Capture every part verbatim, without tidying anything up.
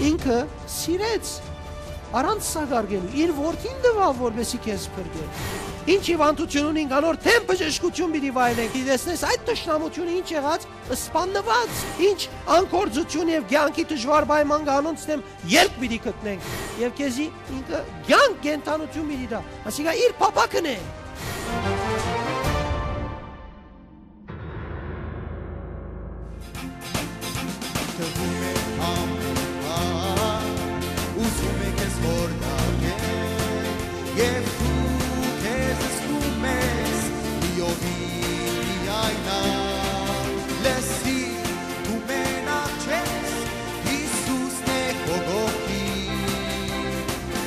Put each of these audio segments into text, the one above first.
ինքը սիրեց, առանց սակարկելու, իր որդին տուաւ, որպեսզի քեզ փրկէ։ Ինչ հիւանդութիւն ունինք, անոր դէմ բժշկութիւն պիտի վայելենք։ Դի տեսնես այդ թշնամութիւնը ինչ եղած, սպաննուած, ինչ անգործութիւն եւ կեանքի դժուար պայման կա անոնց դէմ, ելք պիտի գտնենք եւ քեզի ինքը կեանք, կենդանութիւն պիտի տայ։ Ասիկա իր փափաքն է։ Թվում է ամեն բան, ուզում է քեզ խորտակել, եւ դու քեզ զգում ես լիովին միայնակ։ Լսի, դու մենակ չես, Յիսուսն է քո կողքին,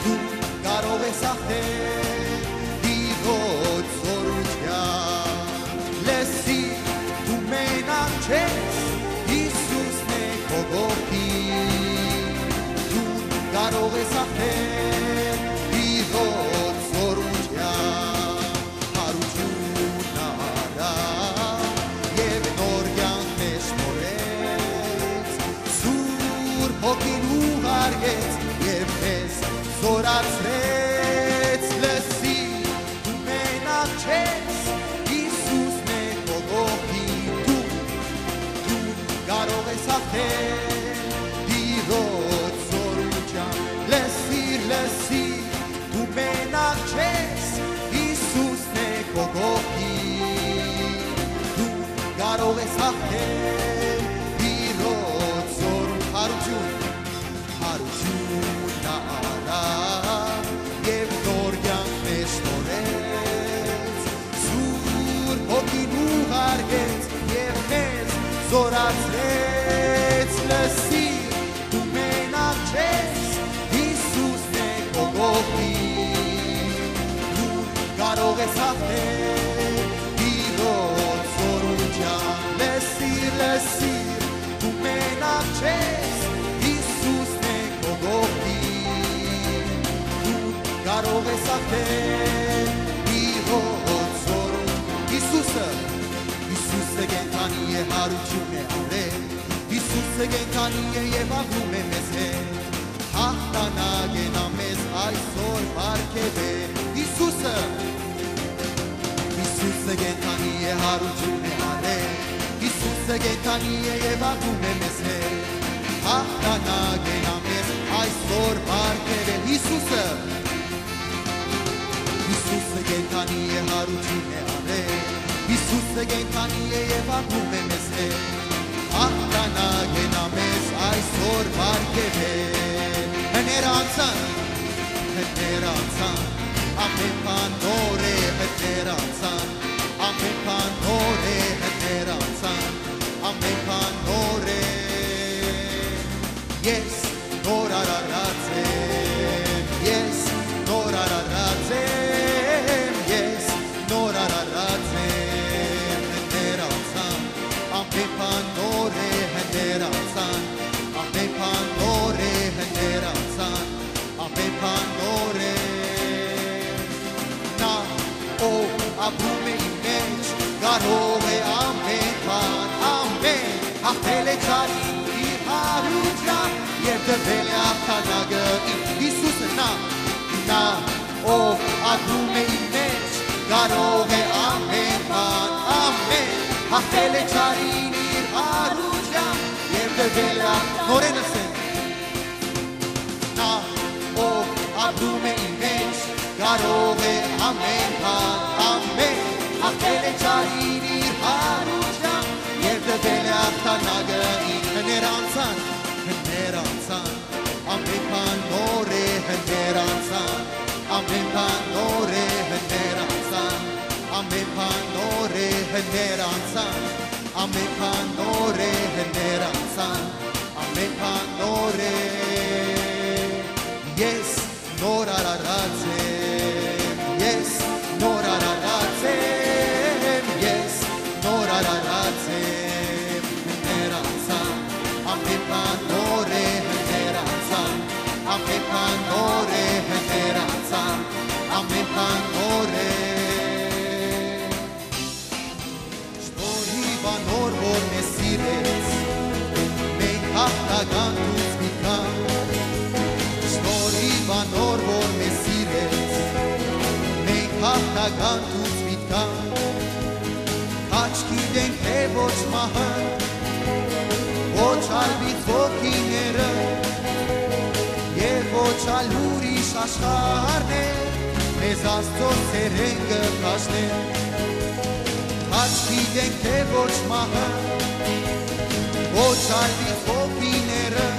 դու կարող ես հաղթել Տիրոջ զօրութեան։ Լսի, դու մենակ չես, Յիսուսն է քո կողքին, դու կարող ես հաղթել Տիրոջ զօրութեան։ Յարութիւն առա եւ նոր կեանք մեզ մոլեց, Սուրբ Հոգին ուղարկեց եւ մեզ զորացրեց։ Լսի, դու մենակ չես, Յիսուսն է քո կողքին, դու, դու կարող ես հաղթել Տիրոջ զօրութեան։ Լսիր, լսիր, դու մենակ չես, Յիսուսն է քո կողքին, դու կարող ես հաղթել Տիրոջ զօրութեան։ Յարութիւն, յարութիւն առա եւ նոր կեանք մեզ մոլեց, Սուրբ Հոգին ուղարկեց եւ մեզ զորացրեց։ Լսի, դու մենակ չես, Յիսուսն է քո կողքին, դու կարող ես հաղթել Տիրոջ զօրութեան։ Լսիր, լսիր, դու մենակ չես, Յիսուսն է քո կողքին, դու կարող ես հաղթել Տիրոջ զօրութեան։ Յիսուսը, Յիսուսը կենդանի է, յարութիւն է առել, Յիսուսը կենդանի է եւ ապրում է մեզ հետ, հաղթանակ է նա մեզ այսօր պարգեւել։ Յիսուսը, Յիսուսը կենդանի է, յարութիւն է առել, Յիսուսը կենդանի է եւ ապրում է մեզ հետ, հաղթանակ է նա մեզ այսօր պարգեւել։ Յիսուսը, Յիսուսը կենդանի է, յարութիւն է առել, Յիսուսը կենդանի է եւ ապրում է մեզ հետ, հաղթանակ է նա մեզ այսօր պարգեւել։ Հները անցան, հները անցան, ամեն բան նոր է, հները անցան, ամեն բան նոր է, հները անցան, ամեն բան նոր է։ Ես նոր արարած եմ, ես նոր արարած եմ, ես նոր արարած եմ, հները անցան, ամեն բան նոր է, հները անցան, ամեն բան նոր է, հները անցան, ամեն բան նոր է։ Նա, ով ապրում է իմ մեջ, կարող է ամեն բան, ամեն, հաղթել է չարին իր յարութեան, եւ տվել է հաղթանակը ինձ։ Յիսուսը, նա, նա, ով ապրում է իմ մեջ, կարող է ամեն բան, ամեն, հաղթել է չարին իր յարութեան, եւ տվել է հաղ-, նորեն ըսեն։ Նա, ով ապրում է իմ մեջ, կարող է ամեն բան, ամեն, հաղթել է չարին իր յարութեան, եւ տվել է հաղթանակը ինձ։ Հները անցան, հները անցան, ամեն բան նոր է, հները անցան, ամեն բան նոր է, հները անցան, ամեն բան նոր է, հները անցան, ամեն բան նոր է, հները անցան, ամեն բան նոր է։ Ես նոր արարած եմ, ես նոր արարած եմ, ես նոր արարած եմ, հները անցան, ամեն բան նոր է, հները անցան, ամեն բան նոր է, հները անցան, ամեն բան նոր է։ Շնորհիւ անոր, որ մեզ սիրեց, մենք հաղթական դուրս գանք, Կանտուց միտքան, քաչ գիտենք, թէ ոչ մահը, ոչ ալ պիծ ոգիները, եւ ոչ ալ ուրիշ աշխարհներ մեզ Աստծոյ սէրէն կը բաժնեն։ Քաչ գիտենք, թէ ոչ մահը, ոչ ալ պիծ ոգիները,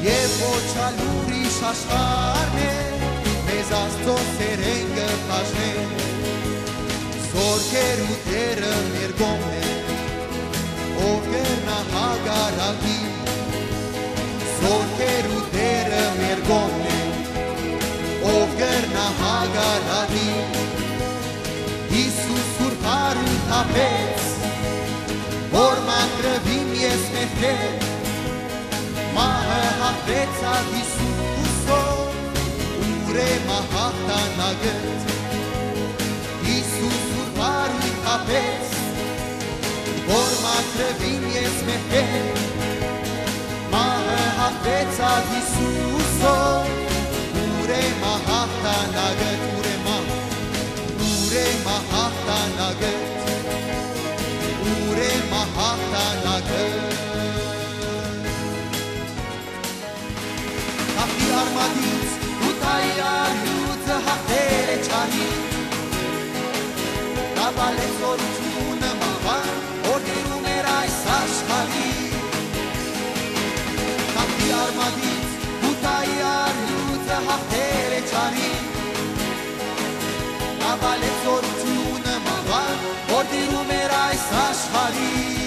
եւ ոչ ալ ուրիշ աշխարհներ մեզ Աստծոյ սէրէն կը բաժնեն։ Զօրքերու Տէրը մեր կողմն է, ով կրնայ հակառակի։ Զօրքերու Տէրը մեր կողմն է, ով կրնայ հակառակի։ Յիսուս սուրբ արիւտ թափեց, որ մաքրուիմ ես մեղքէն։ Մահը հաղթեցաւ Յիսուսով, ուրեմն հաղթանակդ։ Յիսուս սուրբ արիւտ թափեց, որ մաքրուիմ ես մեղքէն։ Մահը հաղթեցաւ Յիսուսով, ուրեմն հաղթանակդ, ուրեմն, ուրեմն հաղթանակդ, ուրեմն հաղթանակդ։ Հաղթի արմատից, Յուդայի արիւծը հաղթեր է չարին, տապալեց զօրութիւնը մահվան, որ տիրում էր այս աշխարհին։ Հաղթի արմատից, Յուդայի արիւծը հաղթեր է չարին, տապալեց զօրութիւնը մահվան, որ տիրում էր այս աշխարհին։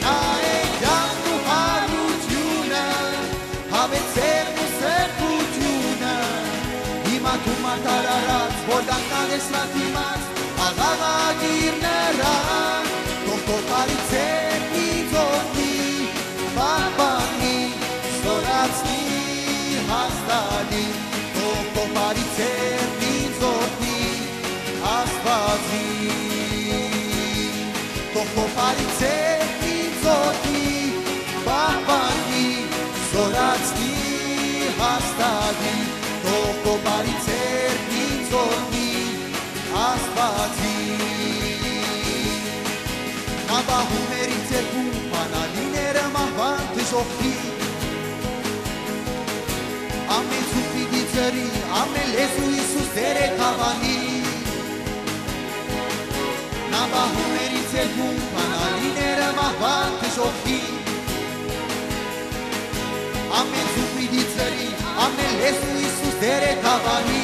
Նայ է կեանքն ու յարութիւնը, հաւեցերն ու սրբութիւնը, հիմա դու մատար առած, որ կանգնած ես նրա դիմաց, աղաղակիր նրան, թող քո բարի ձեռքն ինձ օրհնի, պահպանի, զօրացնի, հաստատի, թող քո բարի ձեռքն ինձ օրհնի, Աստուածին, թող քո բարի ձեռքն ինձ օրհնի, պահպանի, զօրացնի, հաստատի, թող քո բարի ձեռքն ինձ օրհնի, Աստուածին։ Նա պահում էր իմ ձեռքում, բանալիները մահուան դժոխքի։ Ամէն ձուկ պիտի ծռի, ամէն լեզու Յիսուս Տէր է դաւանի։ Նա պահում էր իմ ձեռքում, բանալիները մահուան դժոխքի։ Ամէն ձուկ պիտի ծռի, ամէն լեզու Յիսուս Տէր է դաւանի։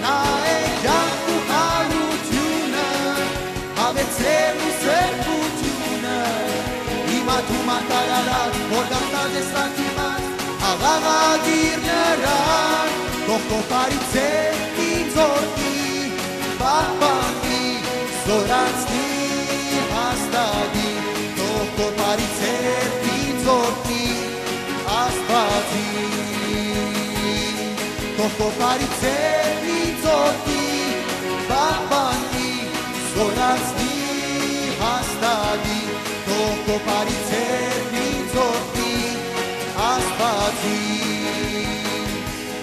Նայ է կեանքն ու յարութիւնը, հաւեցերն ու սրբութիւնը, հիմա դու մատար առած, որ կանգնած ես նրա դիմաց, աղաղակիր նրան, թող քո բարի ձեռքն ինձ օրհնի, պահպանի, զօրացնի, հաստատի, թող քո բարի ձեռքն ինձ օրհնի, Աստուածին, թող քո բարի ձեռքն ինձ օրհնի, պահպանի, զօրացնի, հաստատի, թող քո բարի ձեռքն ինձ օրհնի, Աստուածին։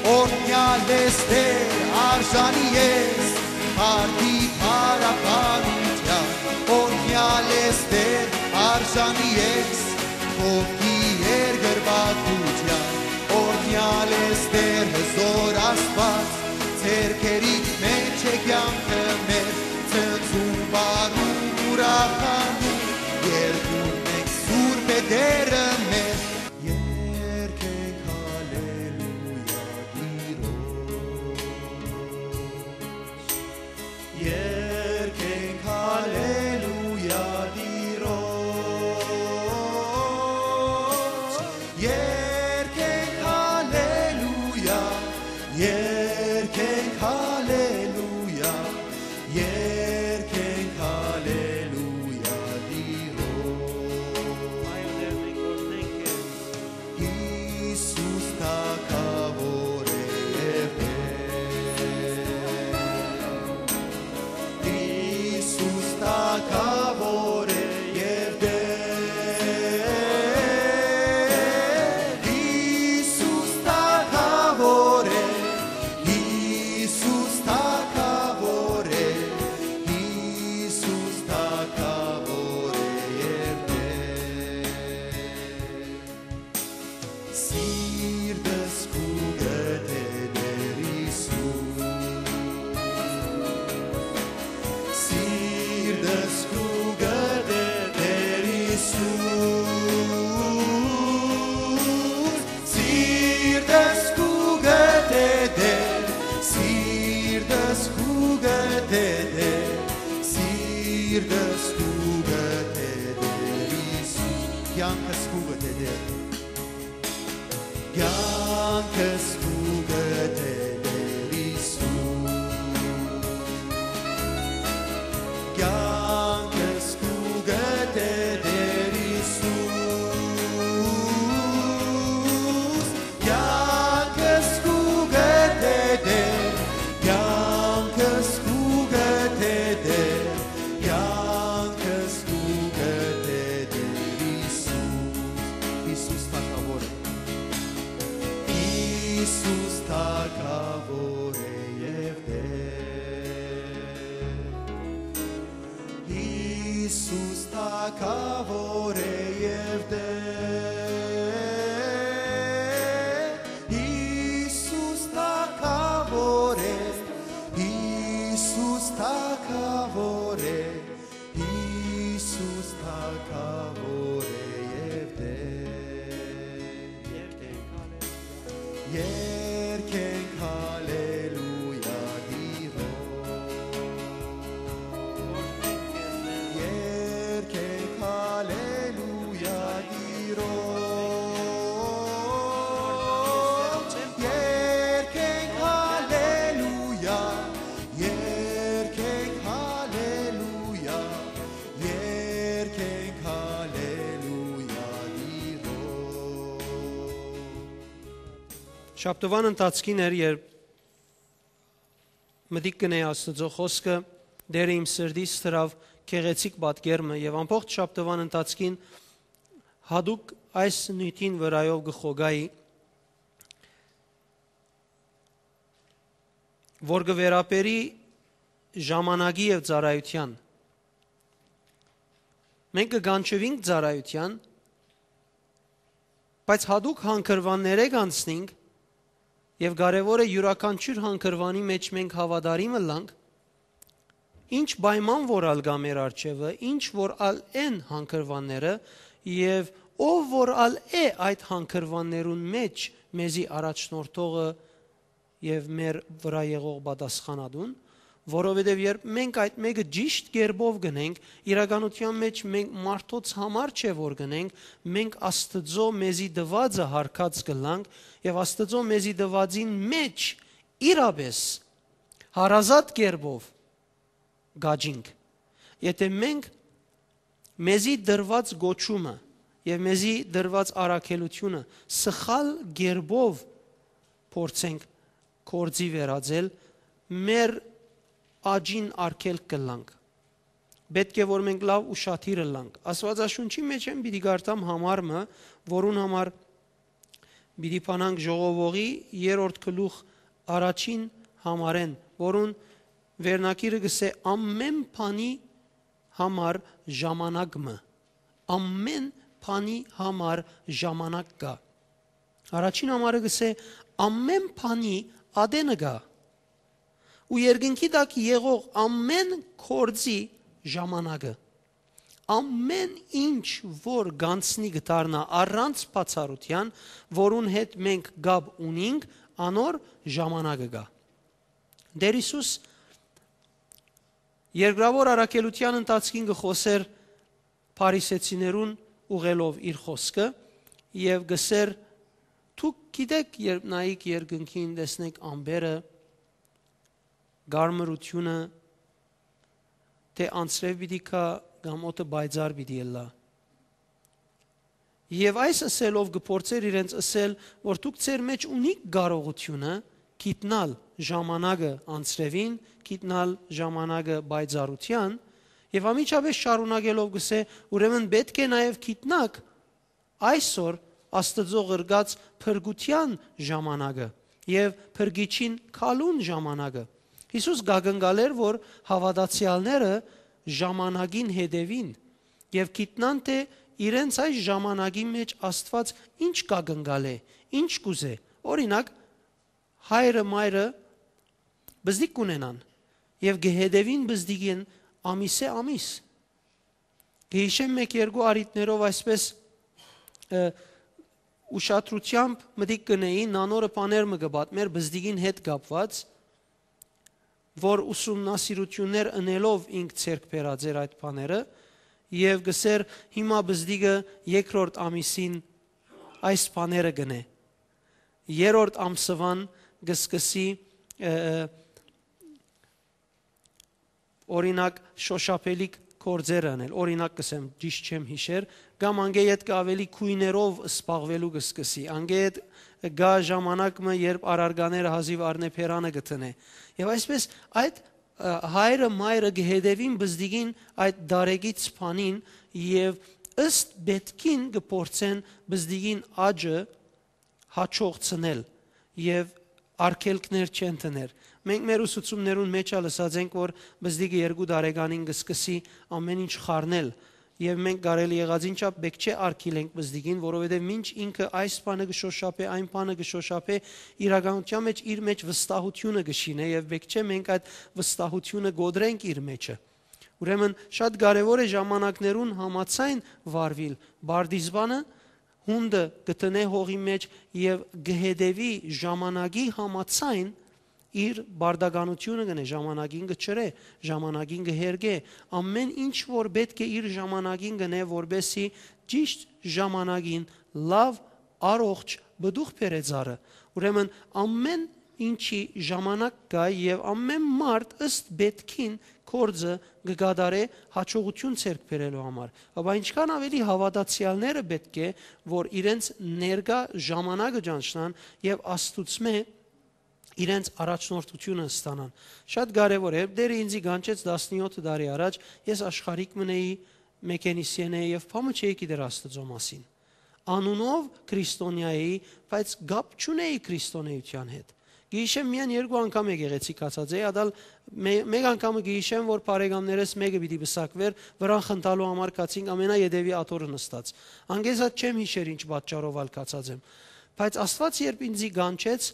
Օրհնեալ ես Տէր, արժանի ես, փառքի փառապանութեան, օրհնեալ ես Տէր, արժանի ես, ովքի երկրպագութեան, օրհնեալ ես Տէր, հզօր Աստուած, ձեռքերիդ մէջ է կեանքը մեր, ցնծում, պարում, ուրախանում, երգում ենք Սուրբ է Տէրը մեր։ Երգենք հալելույա Տիրոջ, երգենք հալելույա Տիրոջ, երգենք հալելույա, երգենք հալելույա, երգենք հալելույա Տիրոջ։ Յիսուս թագաւոր է եւ Տէր, Յիսուս թագաւոր է եւ Տէր, Յիսուս թագաւոր է, Սիրտս կու գտե Տեր Հիսուս։ Սիրտս կու գտե Տեր Հիսուս։ Սիրտս կու գտե Տեր, սիրտս կու գտե Տեր, սիրտս կու գտե Տեր Հիսուս։ Կեանքս կու գտե Տեր։ Կեանքս կու գտե Տեր Հիսուս։ Կեանքս կու գտե Տեր Հիսուս։ Կեանքս կու գտե Տեր, կեանքս կու գտե Տեր, կեանքս կու գտե Տեր Հիսուս։ Հիսուս թագաւոր է։ Հիսուս թագաւոր է եւ Տեր։ Հիսուս թագաւոր է եւ Տեր։ Հիսուս թագաւոր է, Հիսուս թագաւոր է, Հիսուս թագաւոր է եւ Տեր։ Երգենք հալելույա Տիրոջ։ Երգենք հալելույա Տիրոջ։ Երգենք հալելույա, երգենք հալելույա, երգենք հալելույա Տիրոջ։ Շաբթուան ընթացքին էր, երբ մտիկ կ'ընէի Աստուծոյ խօսքը, Տէրը իմ սրտիս դրաւ գեղեցիկ պատկեր մը եւ ամբողջ շաբթուան ընթացքին յատուկ այս նիւթին վրայով կը խոկայի, որ կը վերաբերի ժամանակի եւ ծառայութեան։ Մենք կը կանչուինք ծառայութեան, բայց յատուկ հանգրուաններէ կանցնենք եւ կարեւոր է յուրաքանչիւր հանգրուանի մէջ մենք հաւատարիմ ըլլանք, ինչ պայման որ ալ կայ մեր առջեւը, ինչ որ ալ են հանգրուանները եւ ով որ ալ է այդ հանգրուաններուն մէջ մեզի առաջնորդողը եւ մեր վրայ եղող պատասխանատուն, որովհետեւ երբ մենք այդ մէկը ճիշտ կերպով կ'ընենք, իրականութեան մէջ մենք մարդոց համար չէ որ կ'ընենք, մենք Աստուծոյ մեզի տուածը յարգած կ'ըլլանք եւ Աստուծոյ մեզի տուածին մէջ իրապէս հարազատ կերպով կ'աճինք։ Եթէ մենք մեզի տրուած կոչումը եւ մեզի տրուած առաքելութիւնը սխալ կերպով փորձենք գործի վերածել, մեր աճին արգելք կ'ըլլանք։ Պէտք է որ մենք լաւ ուշադիր ըլլանք։ Աստուածաշունչի մէջ եմ պիտի կարդամ համար մը, որուն համար պիտի բանանք Ժողովողի երրորդ գլուխ առաջին համարէն, որուն վերնագիրը կ'ըսէ. «Ամէն բանի համար ժամանակ մը, ամէն բանի համար ժամանակ կայ»։ Առաջին համարը կ'ըսէ. «Ամէն բանի ատենը կայ, ու երկնքի տակ եղող ամէն գործի ժամանակը»։ Ամէն ինչ որ կ'անցնի կը դառնայ առանց բացառութեան, որուն հետ մենք կապ ունինք, անոր ժամանակը կայ։ Տէր Հիսուս երկրաւոր առաքելութեան ընթացքին կը խօսէր փարիսեցիներուն ուղղելով իր խօսքը եւ կ'ըսէր. «Դուք գիտէք, երբ նայիք երկնքին, տեսնէք ամպերը, կարմրութիւնը, թէ անձրեւ պիտի գայ կամ օդը պայծառ պիտի ըլլայ»։ Եւ այս ըսելով կը փորձէր իրենց ըսել, որ դուք ձեր մէջ ունիք կարողութիւնը գիտնալ ժամանակը անձրեւին, գիտնալ ժամանակը պայծառութեան, եւ անմիջապէս շարունակելով կ'ըսէ. «Ուրեմն պէտք է նաեւ գիտնաք այսօր Աստուծոյ ղրկած փրկութեան ժամանակը եւ փրկիչին գալուն ժամանակը»։ Հիսուս կ'ակնկալէր, որ հաւատացեալները ժամանակին հետեւին եւ գիտնան թէ իրենց այս ժամանակին մէջ Աստուած ինչ կակնկալէ, ինչ կ'ուզէ։ Օրինակ, հայրը, մայրը բզդիկ կ'ունենան եւ կը հետեւին բզդիկին ամիսէ ամիս։ Կը յիշեմ, մէկ երկու առիթներով այսպէս, ը, ուշադրութեամբ մտիկ կ'ընէի, նանորը բաներ մը կը պատմէր բզդիկին հետ կապուած, որ ուսումնասիրութիւններ ընելով ինք ձեռք բերած էր այդ բաները, եւ կ'ըսէր, հիմա բզդիկը երկրորդ ամիսին այս բաները կ'ընէ։ Երրորդ ամսուան կը սկսի, ը, ը, օրինակ, շոշափելիք գործերը ընել, օրինակ կ'ըսեմ, ճիշդ չեմ յիշեր, կամ անգէ ետքը աւելի գոյներով զբաղուելու կը սկսի, անգէ ետքը գայ ժամանակ մը, երբ առարկաները հազիւ առնէ, բերանը կը դնէ։ Եւ այսպէս այդ, ը, հայրը, մայրը կը հետեւին բզդիկին այդ դարեկից բանին եւ ըստ պէտքին կը փորձեն բզդիկին աճը յաջողցնել եւ արգելքներ չեն դներ։ Մենք մեր ուսուցումներուն մէջ ալ ըսած ենք, որ բզդիկը երկու տարեկանին կը սկսի ամեն ինչ խառնել, եւ մենք կարելի եղածին չափ պէտք չէ արգիլենք բզդիկին, որովհետեւ մինչ ինքը այս բանը կը շոշափէ, այն բանը կը շոշափէ, իրականութեան մէջ իր մէջ վստահութիւնը կը շինէ, եւ պէտք չէ մենք այդ վստահութիւնը կոտրենք իր մէջը։ Ուրեմն շատ կարեւոր է ժամանակներուն համաձայն վարուիլ։ Պարտիզպանը յունտը կը դնէ հողի մէջ եւ կը հետեւի ժամանակի համաձայն, իր պարտականութիւնը կ'ընէ, ժամանակին կը ջրէ, ժամանակին կը հերկէ, ամէն ինչ որ պէտք է իր ժամանակին կ'ընէ, որպէսզի ճիշդ ժամանակին լաւ, առողջ պտուղ բերէ ծառը։ Ուրեմն ամէն ինչի ժամանակ կայ եւ ամէն մարդ ըստ պէտքին գործը կը կատարէ յաջողութիւն ձեռք բերելու համար։ Ապա ինչքան աւելի հաւատացեալները պէտք է, որ իրենց ներկայ ժամանակը ճանչնան եւ Աստուծմէ իրենց առաջնորդութիւնը ստանան։ Շատ կարեւոր է, երբ Տէրը ինձի կանչեց տասնեօթ տարի առաջ, ես աշխարհիկ մըն էի, մեկենիսիեն էի եւ բան մը չէի գիտեր Աստուծոյ մասին։ Անունով քրիստոնեայ էի, բայց կապ չունէի քրիստոնէութեան հետ։ Գիշեմ միայն երկու անգամ եկեղեցի գացած էի, ատալ մէ-, մէկ անգամը գիշեմ, որ բարեկամներս մէկը պիտի պսակուէր, վրան խնդալու համար գացինք, ամենաետեւի աթոռը նստած։ Անգեզած չեմ յիշեր ինչ պատճառով ալ գացած եմ։ Բայց Աստուած երբ ինձի կանչեց,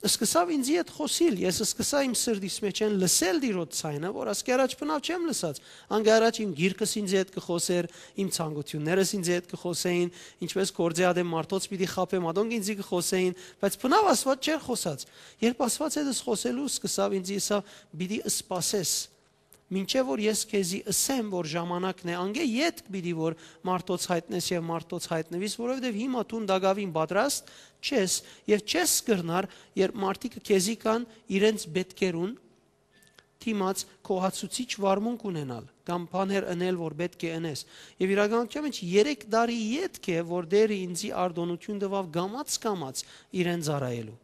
սկսաւ ինձի հետ խօսիլ, ես սկսա իմ սրտիս մէջէն լսել Տիրոջ ձայնը, որ ասկի առաջ բնաւ չեմ լսած։ Անգի առաջ իմ գիրկս ինձի հետ կը խօսէր, իմ ցանկութիւններս ինձի հետ կը խօսէին, ինչպէս գործի ատեմ մարդոց պիտի խաբեմ, ատոնք ինձի կը խօսէին, բայց բնաւ Աստուած չէր խօսած։ Երբ Աստուած հետս խօսելու սկսաւ, ինձի ըսաւ, «Պիտի սպասես, մինչեւ որ ես քեզի ըսեմ, որ ժամանակն է, անգէ ետք պիտի որ մարդոց յայտնես եւ մարդոց յայտնուիս, որովհետեւ հիմա դուն տակաւին պատրաստ չես եւ չես կրնար, երբ մարդիկը քեզի կան իրենց պէտքերուն դիմաց գոհացուցիչ վարմունք ունենալ կամ բաներ ընել, որ պէտք է ընես»։ Եւ իրականութեան մէջ երեք տարի ետք է, որ Տէրը ինձի արտօնութիւն տուաւ կամաց-կամաց իրեն ծառայելու։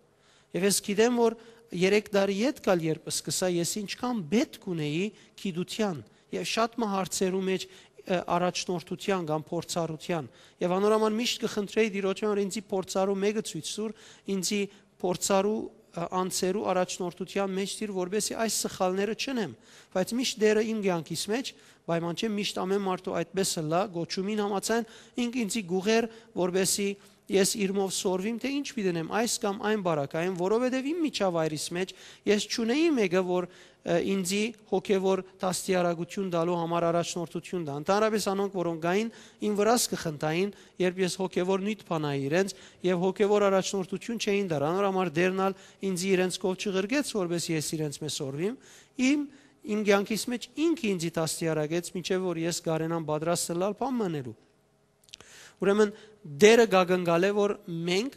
Եւ ես գիտեմ, որ երեք տարի ետք ալ երբ սկսա, ես ինչքան պէտք ունեի գիտութեան եւ շատ մը հարցերու մէջ, ը, առաջնորդութեան կամ փորձառութեան։ Եւ անոր համար միշտ կը խնդրէի Տիրոջէն, որ ինձի փորձառու մէկը ցոյց տուր, ինձի փորձառու, ը, անձերու առաջնորդութեան մէջ տիր, որպեսզի այս սխալները չընեմ։ Բայց միշտ Տէրը իմ կեանքիս մէջ պայման չէ, միշտ ամէն մարդու այդպես ըլլայ, կոչումին համաձայն, ինք ինձի կ'ուղղէր, որպեսզի ես իրմով սորվիմ, թէ ինչ պիտի ընեմ, այս կամ այն պարագային, որովհետեւ իմ միջավայրիս մէջ ես չունեի մէկը, որ, ը, ինձի հոգեվոր դաստիարակութիւն տալու համար առաջնորդութիւն տայ։ Ընդհանրապէս անոնք, որոնք կային, իմ վրաս կը խնդային, երբ ես հոգեվոր նիւթ բանայի իրենց, եւ հոգեվոր առաջնորդութիւն չէին տար։ Անոր համար Տէրն ալ ինձի իրենց քով չղրկեց, որպէս ես իրենց մէ սորվիմ, իմ, իմ կեանքիս մէջ ինքը ինձի դաստիարակեց, մինչեւ որ ես կարենամ պատրաստ ըլլալ բան մը ընելու։ Ուրեմն Տէրը կակնկալէ, որ մենք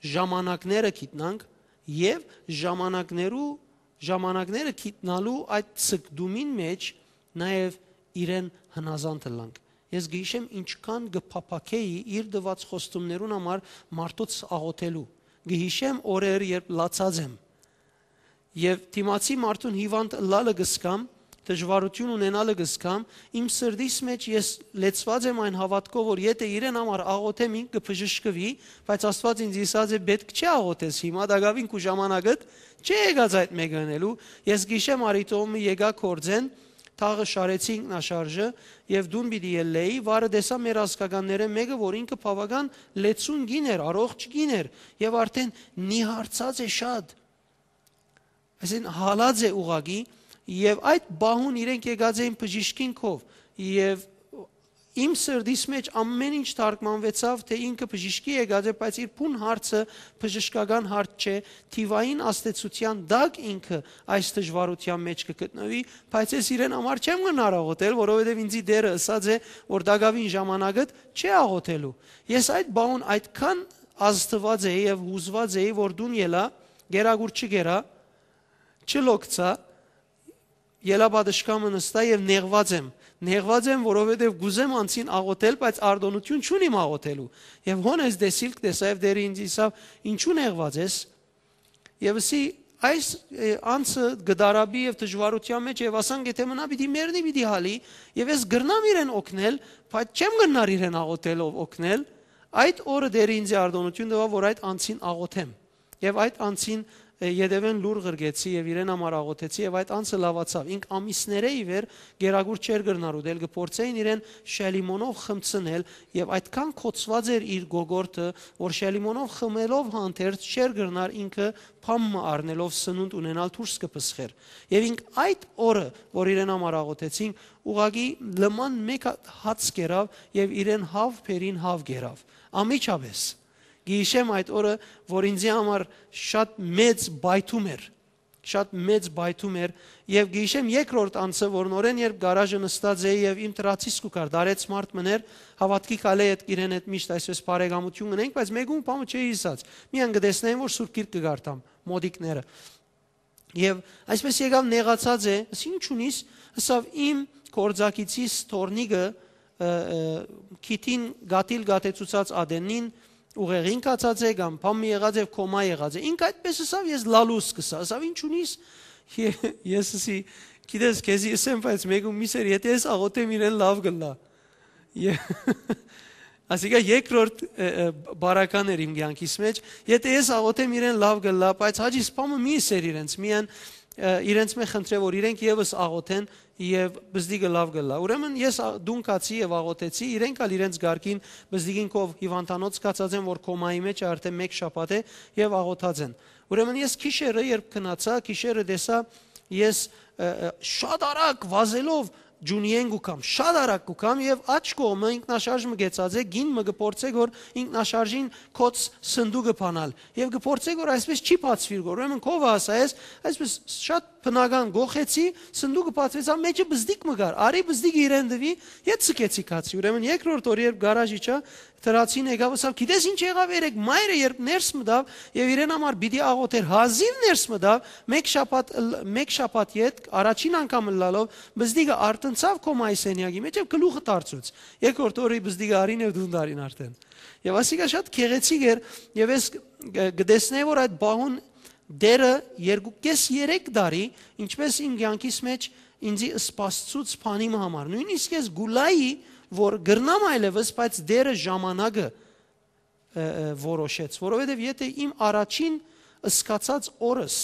ժամանակները գիտնանք եւ ժամանակներու, ժամանակները գիտնալու այդ ցկտումին մէջ նաեւ իրեն հնազանդ ըլլանք։ Ես կը յիշեմ, ինչքան կը փափաքէի իր տուած խոստումներուն համար մարդոց աղօթելու։ Կը յիշեմ օրեր, երբ լացած եմ, եւ դիմացի մարդուն հիվանդ ըլլալը կ'զգամ, դժուարութիւն ունենալը կ'զգամ, իմ սրտիս մէջ ես լեցուած եմ այն հաւատքով, որ եթէ իրեն համար աղօթեմ, ինք կը բժշկուի, բայց Աստուած ինձ ըսած է, «Պէտք չէ աղօթես հիմա, տակաւին քու ժամանակդ չէ եկած այդ մէկը ընելու»։ Ես գիշեմ արիտոմը եկայ գործէն, թաղը շարեցի ինքնաշարժը եւ դուն պիտի ելլէի, վարը տեսայ մեր ազգականներէն մէկը, որ ինքը բաւական լեցուն կին էր, առողջ կին էր եւ արդէն նիհարցած է շատ։ Այսինքն՝ հալած է ուղղակի, եւ այդ պահուն իրենք եկած էին բժիշկին քով, եւ իմ սրտիս մէջ ամէն ինչ թարգմանուեցաւ, թէ ինքը բժիշկի եկած է, բայց իր բուն հարցը բժշկական հարց չէ, թիւային ազդեցութեան տակ ինքը այս դժուարութեան մէջ կը գտնուի, բայց ես իրեն համար չեմ գնար աղօթել, որովհետեւ ինծի Տէրը ըսած է, որ տակաւին ժամանակդ չէ աղօթելու։ Ես այդ պահուն այդքան ազդուած էի եւ յուզուած էի, որ դուն ելայ, գերագուր չգերա, չլոկցայ, ելայ պատշգամբը նստայ եւ նեղուած եմ։ Նեղուած եմ, որովհետեւ կ'ուզեմ անցին աղօթել, բայց արտօնութիւն չունիմ աղօթելու։ Եւ հոն ես դեսիլք տեսայ եւ Տէրը ինձ ըսաւ. «Ինչու նեղուած ես»։ Եւ ըսի. «Այս, ը, անձը կը տառապի եւ դժուարութեան մէջ, եւ ասանք եթէ մնայ պիտի մեռնի, պիտի հալի, եւ ես կրնամ իրեն օգնել, բայց չեմ կրնար իրեն աղօթելով օգնել»։ Այդ օրը Տէրը ինձի արտօնութիւն տուաւ, որ այդ անձին աղօթեմ։ Եւ այդ անձին, ը, ետեւէն լուր ղրկեցի եւ իրեն համար աղօթեցի, եւ այդ անձը լաւացաւ։ Ինք ամիսներէ ի վեր գերագուր չէր կրնար ուտել, կը փորձէին իրեն շելիմոնով խմցնել, եւ այդքան կոծուած էր իր գոգորտը, որ շելիմոնով խմելով հանդերձ չէր կրնար ինքը բան մը առնելով սնունդ ունենալ դուրս կը պսխէր։ Եւ ինք այդ օրը, որ իրեն համար աղօթեցինք, ուղղակի լման մէկ հատ հաց կերաւ եւ իրեն հաւ բերին, հաւ կերաւ։ Անմիջապէս։ Գիշեմ այդ օրը, որ ինձի համար շատ մեծ պայթում էր, շատ մեծ պայթում էր, եւ գիշեմ երկրորդ անձը, որ նորէն երբ գարաժը նստած էի եւ իմ դրացիս կու կար, դարեց մարդ մըն էր, հաւատքի քալէ հետ իրեն հետ միշտ այսպես բարեկամություն ունենք, բայց մեկուն բանը չէի ըսած, միայն կը տեսնեին, որ Սուրբ Գիրք կը կարդամ, մոդիկները։ Եւ այսպես եկաւ, նեղացած է, ըսի. «Ի՞նչ ունիս»։ Ըսաւ. «Իմ գործակիցիս թոռնիկը, ը, ը, քիթին գաթիլ գաթեցուցած ատենին ուղեղին գացած է կամ բան մը եղած եւ կոմա եղած է»։ Ինք այդպես ըսաւ, ես լալու սկսա, ըսաւ. «Ի՞նչ ունիս»։ Ե-, ես ըսի. «Գիտես, քեզի ըսեմ, բայց մեկուն մի սեր, եթէ ես աղօթեմ, իրեն լաւ կ'ըլլայ»։ Ե-, ասիկա երկրորդ, ը, ը, բարական էր իմ կեանքիս մէջ։ Եթէ ես աղօթեմ, իրեն լաւ կ'ըլլայ, բայց Հաճի սպամը մի ըսեր իրենց, միայն, ը, իրենց մէ խնդրէ, որ իրենք եւս աղօթեն եւ բզդիկը լաւ կ'ըլլայ։ Ուրեմն ես ա-, տուն գացի եւ աղօթեցի, իրենք ալ իրենց կարգին բզդիկին քով հիվանդանոց գացած են, որ կոմայի մէջ է արդէն մէկ շաբաթ է, եւ աղօթած են։ Ուրեմն ես գիշերը, երբ քնացայ, գիշերը տեսայ, ես, ը, ը, շատ արագ վազելով ջունիեն կու կամ, շատ արագ կու կամ, եւ աջ կողմը ինքնաշարժ մը գեցած է, գին մը կը փորձէ, որ ինքնաշարժին կոց սնդուկը բանալ, եւ կը փորձէ, որ այսպես չի բացուիր, որ ուրեմն քովը ասայ ես, այսպես շատ բնական գոխեցի, սնդուկը բացվեցաւ, մեջը բզդիկ մը կար, արի բզդիկը իրեն տուի, ետ սկեցի գացի։ Ուրեմն երկրորդ օրը, երբ գարաժ իջայ, դրացին եկաւ, ըսաւ. «Գիտես ինչ եղաւ երեկ, մայրը երբ ներս մտաւ եւ իրեն համար պիտի աղոթեր, հազիւ ներս մտաւ, մէկ շաբաթ ըլ-, մէկ շաբաթ յետ, առաջին անգամ ըլլալով, բզդիկը արթնցաւ կոմայի սենեակի մէջ եւ գլուխը դարձուց»։ Երկրորդ օրը բզդիկը արին եւ տուն դարին արդեն։ Եւ ասիկա շատ գեղեցիկ էր, եւ ես կ-, կտեսնէի, որ այդ պահուն Տէրը երկու կէս երեք տարի, ինչպես իմ կեանքիս մէջ ինձի սպասցուց բանի մը համար։ Նոյնիսկ ես գուլայի, որ կրնամ այլեւս, բայց Տէրը ժամանակը, ը, ը, որոշեց, որովհետեւ եթէ իմ առաջին սկացած օրս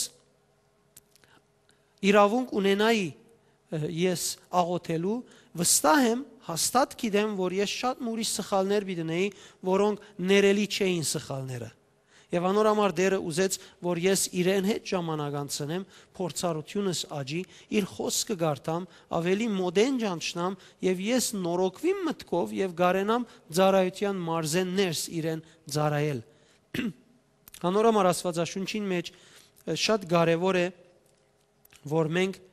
իրաւունք ունենայի, ը, ես աղոթելու, վստահ եմ, հաստատ գիտեմ, որ ես շատ մը ուրիշ սխալներ պիտի ունեի, որոնք ներելի չէին սխալները։ Եւ անոր համար Տէրը ուզեց, որ ես իրեն հետ ժամանակ անցնեմ, փորձառութիւնս աճի, իր խօսքը կարդամ, ավելի մօտէն ճանչնամ, եւ ես նորոգուիմ մտքով եւ կարենամ ծառայութեան մարզէն ներս իրեն ծառայել։ Անոր համար Աստուածաշունչին մէջ, ը, շատ կարեւոր է, որ մենք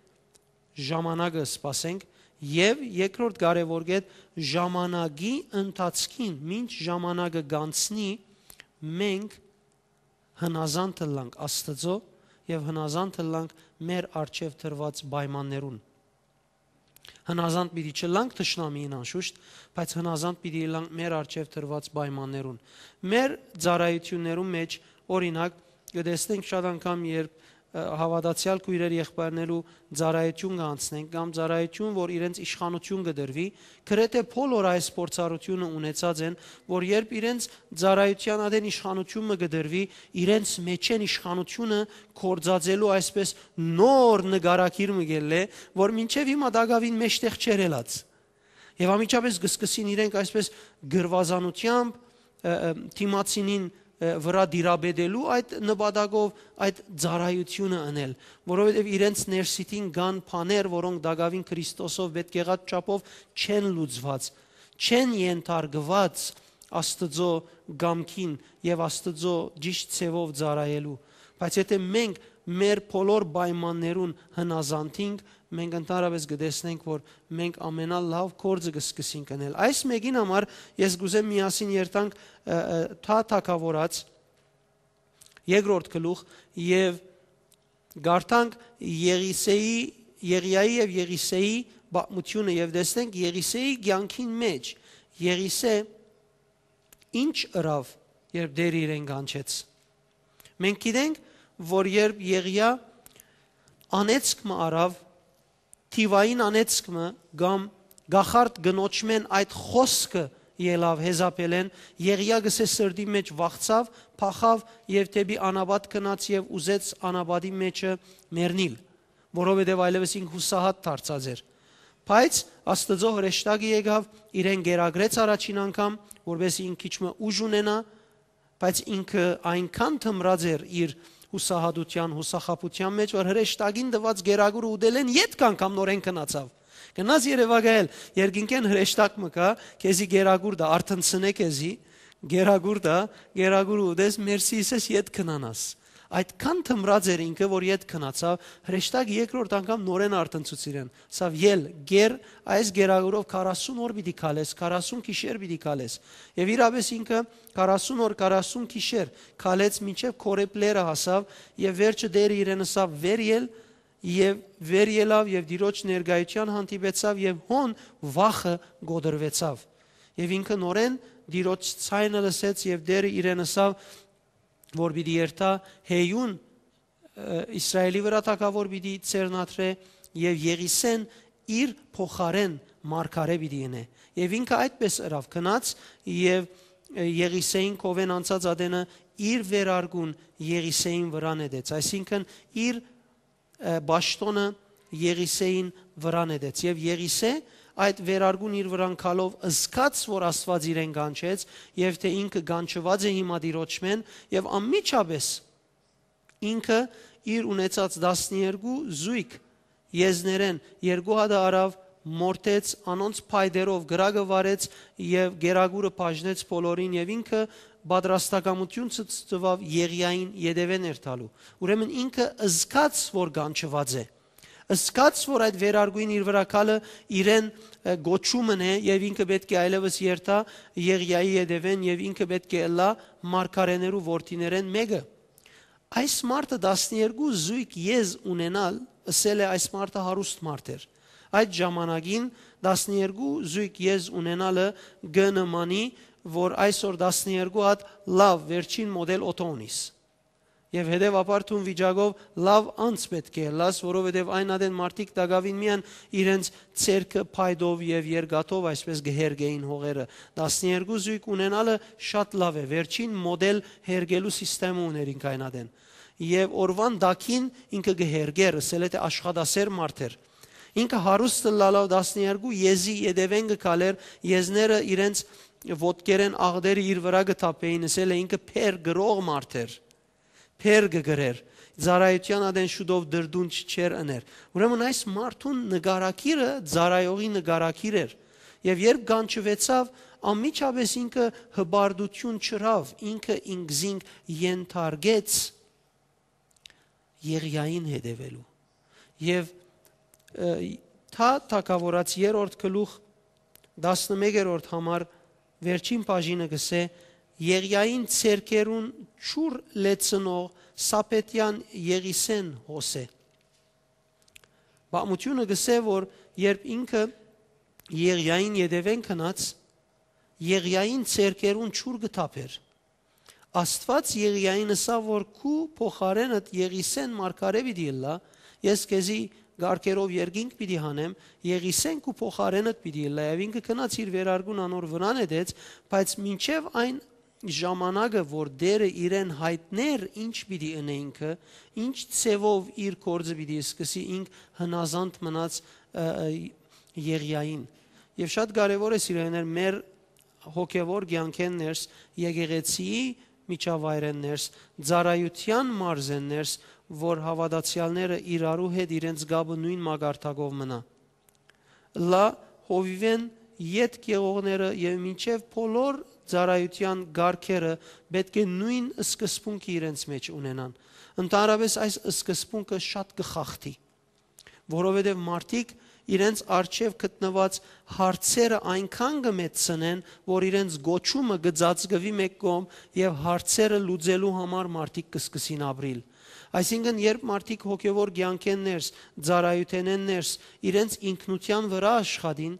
ժամանակը սպասենք, եւ երկրորդ կարեւոր կետ, ժամանակի ընթացքին, մինչ ժամանակը կանցնի, մենք հնազանդ ըլլանք Աստծո եւ հնազանդ ըլլանք մեր առջեւ դրուած պայմաններուն։ Հնազանդ պիտի չըլլանք թշնամիին անշուշտ, բայց հնազանդ պիտի ըլլանք մեր առջեւ դրուած պայմաններուն։ Մեր ծառայութիւններուն մէջ, օրինակ, կը տեսնենք շատ անգամ, երբ Ը, հաւատացեալ քոյրեր եղբայրներու ծառայութիւն կը անցնենք, կամ ծառայութիւն, որ իրենց իշխանութիւն կը տրուի, գրեթէ բոլոր այս փորձառութիւնը ունեցած են, որ երբ իրենց ծառայութեան ատեն իշխանութիւն մը կը տրուի, իրենց մէջէն իշխանութիւնը գործածելու այսպես նոր նկարագիր մը կ'ելլէ, որ մինչեւ հիմա տակաւին մէջտեղ չէր ելած։ Եւ անմիջապէս կը սկսին իրենք այսպես գրուազանութեամբ, ը, ը, դիմացինին, ը, վրայ դիրապետելու այդ նպատակով, այդ ծառայութիւնը ընել, որովհետեւ իրենց ներսիդին կան բաներ, որոնք տակաւին Քրիստոսով պէտք եղած չափով չեն լուծուած, չեն ենթարկուած Աստուծոյ կամքին եւ Աստուծոյ ճիշդ ձեւով ծառայելու։ Բայց եթէ մենք մեր բոլոր պայմաններուն հնազանդ ենք, մենք ընդհանրապէս կը տեսնենք, որ մենք ամենալաւ գործը կը սկսենք ընել։ Այս մէկին համար ես կ'ուզեմ միասին երթանք, ը, ը, թա թագաւորաց երկրորդ գլուխ եւ կարդանք Եղիսեի, Եղիայի եւ Եղիսեի պատմութիւնը եւ տեսնենք Եղիսեի կեանքին մէջ Եղիսե ինչ ըրաւ, երբ Տէրը իրեն կանչեց։ Մենք գիտենք, որ երբ Եղիա անեծք մը առաւ, թիվային անեծք մը կամ կախարդ կնոջմէն այդ խօսքը ելաւ Յեզապէլէն, Եղիա գսէ սրտի մէջ վախցաւ, փախաւ եւ դէպի անապատ գնաց եւ ուզեց անապատի մէջը մեռնիլ, որովհետեւ այլեւս ինք յուսահատ դարձած էր։ Բայց Աստուծոյ հրեշտակը եկաւ, իրեն կերակրեց առաջին անգամ, որպէս ինք քիչ մը ուժ ունենայ, բայց ինքը այնքան թմրած էր իր յուսահատութեան, յուսախաբութեան մէջ, որ հրեշտակին տուած կերակուրը ուտելէն ետք անգամ նորէն գնացաւ։ Գնաց երեւակայել, երկնքէն հրեշտակ մը կայ, քեզի կերակուր տայ, արթնցնէ քեզի, կերակուր տայ, կերակուրը ուտես, մերսի ըսես, ետք գնանաս։ Այդքան թմրած էր ինքը, որ ետք գնացաւ, հրեշտակը երկրորդ անգամ նորէն արթնցուց իրեն։ Սա ել, կեր, այս կերակուրով քառասուն օր պիտի քալես, քառասուն գիշեր պիտի քալես։ Եւ իրապէս ինքը քառասուն օր, քառասուն գիշեր քալեց, մինչեւ Քորեբ լեռը հասաւ, եւ վերջը Տէրը իրեն ըսաւ. «Վեր ել», եւ վեր ելաւ եւ Տիրոջ ներկայութեան հանդիպեցաւ եւ հոն վախը կոտրուեցաւ։ Եւ ինքը նորէն Տիրոջ ձայնը լսեց եւ Տէրը իրեն ըսաւ, որ պիտի երթայ հեյուն, ը, Իսրայէլի վրայ թագաւոր պիտի ձեռնադրէ եւ Եղիսէն իր փոխարէն մարգարէ պիտի ընէ։ Եւ ինքը այդպես ըրաւ, գնաց եւ, ը, Եղիսէին քովէն անցած ատենը իր վերարկուն Եղիսէին վրայ նետեց, այսինքն իր, ը, պաշտօնը Եղիսէին վրայ նետեց։ Եւ Եղիսէ այդ վերարկուն իր վրան գալով զգաց, որ Աստուած իրեն կանչեց եւ թէ ինքը կանչուած է հիմա Տիրոջմէն, եւ անմիջապէս ինքը իր ունեցած տասներկու զոյգ եզներէն երկու հատը առաւ, մորթեց, անոնց փայտերով կրակը վառեց եւ կերակուրը բաժնեց բոլորին, եւ ինքը պատրաստակամութիւն ցցուած Եղիային ետեւէն էր տալու։ Ուրեմն ինքը զգաց, որ կանչուած է, զգաց, որ այդ վերարկուին իր վրայ գալը իրեն, ը, կոչումն է, եւ ինքը պէտք է այլեւս երթայ Եղիայի ետեւէն, եւ ինքը պէտք է ըլլայ մարգարէներու որդիներէն մէկը։ Այս մարդը տասներկու զոյգ եզ ունենալ, ըսել է, այս մարդը հարուստ մարդ էր։ Այդ ժամանակին տասներկու զոյգ եզ ունենալը կը նմանի, որ այսօր տասներկու հատ լաւ վերջին մոդել օթո ունիս։ Եւ հետեւաբար դուն վիճակով լաւ անձ պէտք է ըլլաս, որովհետեւ այն ատեն մարդիկ տակաւին միայն իրենց ձեռքը փայտով եւ երկաթով այսպես կը հերկէին հողերը։ Տասներկու զոյգ ունենալը շատ լաւ է, վերջին մոդել հերկելու սիստեմը ուներ ինք այն ատեն։ Եւ օրուան տակին ինքը կը հերկէր, ըսել է թէ աշխատասեր մարդ էր։ Ինքը հարուստ ըլլալով տասներկու եզի ետեւէն կը քալէր, եզները իրենց ոտքերէն աղտերը իր վրայ կը թափէին, ըսել է, ինքը փեր գրող մարդ էր, փեր կը գրէր, ծառայութեան ատեն շուտով դրդունջ չէր ըներ։ Ուրեմն այս մարդուն նկարագիրը ծառայողի նկարագիր էր, եւ երբ կանչուեցաւ, անմիջապէս ինքը հպարտութիւն չըրաւ, ինքը ինքզինք ենթարկեց Եղիային հետեւելու։ Եւ, ը, թա թագաւորաց երրորդ գլուխ, տասնմեկերորդ համար, վերջին բաժինը կ'ըսէ. «Եղիային ձեռքերուն չուր լեցնող Սաբեթեան Եղիսէն հոս է»։ Պատմութիւնը կ'ըսէ, որ երբ ինքը Եղիային ետեւէն գնաց, Եղիային ձեռքերուն չուր կը թափէր։ Աստուած Եղիային ըսաւ որ քու փոխարէնդ Եղիսէն մարգարէ պիտի ըլլայ, ես քեզի կարգերով երկինք պիտի հանեմ, Եղիսէն քու փոխարէնդ պիտի ըլլայ։ Եւ ինքը գնաց իր վերարկուն անոր վրան նետեց, բայց մինչեւ այն ժամանակը որ Տէրը իրեն յայտնէր ինչ պիտի ընէ ինքը, ինչ ձեւով իր գործը պիտի սկսի, ինք հնազանդ մնաց Եղիային։ Եւ շատ կարեւոր է, սիրելիներ, մեր հոգեվոր կեանքէն ներս, եկեղեցիի միջավայրէն ներս, ծառայութեան մարզէն ներս, որ հաւատացեալները իրարու հետ իրենց կապը նոյն մակարդակով մնայ, լա հովիւէն ետք եղողները եւ մինչեւ բոլոր ծառայութեան կարգերը պէտք է նոյն սկզբունքը իրենց մէջ ունենան։ Ընդհանրապէս այս սկզբունքը շատ կը խախտի, որովհետեւ մարդիկ իրենց առջեւ գտնուած հարցերը այնքան կը մեծցնեն, որ իրենց կոչումը կը ծածկուի մէկ կողմ եւ հարցերը լուծելու համար մարդիկ կը սկսին ապրիլ։ Այսինքն երբ մարդիկ հոգեվոր կեանքէն ներս, ծառայութենէն ներս, իրենց ինքնութեան վրայ աշխատին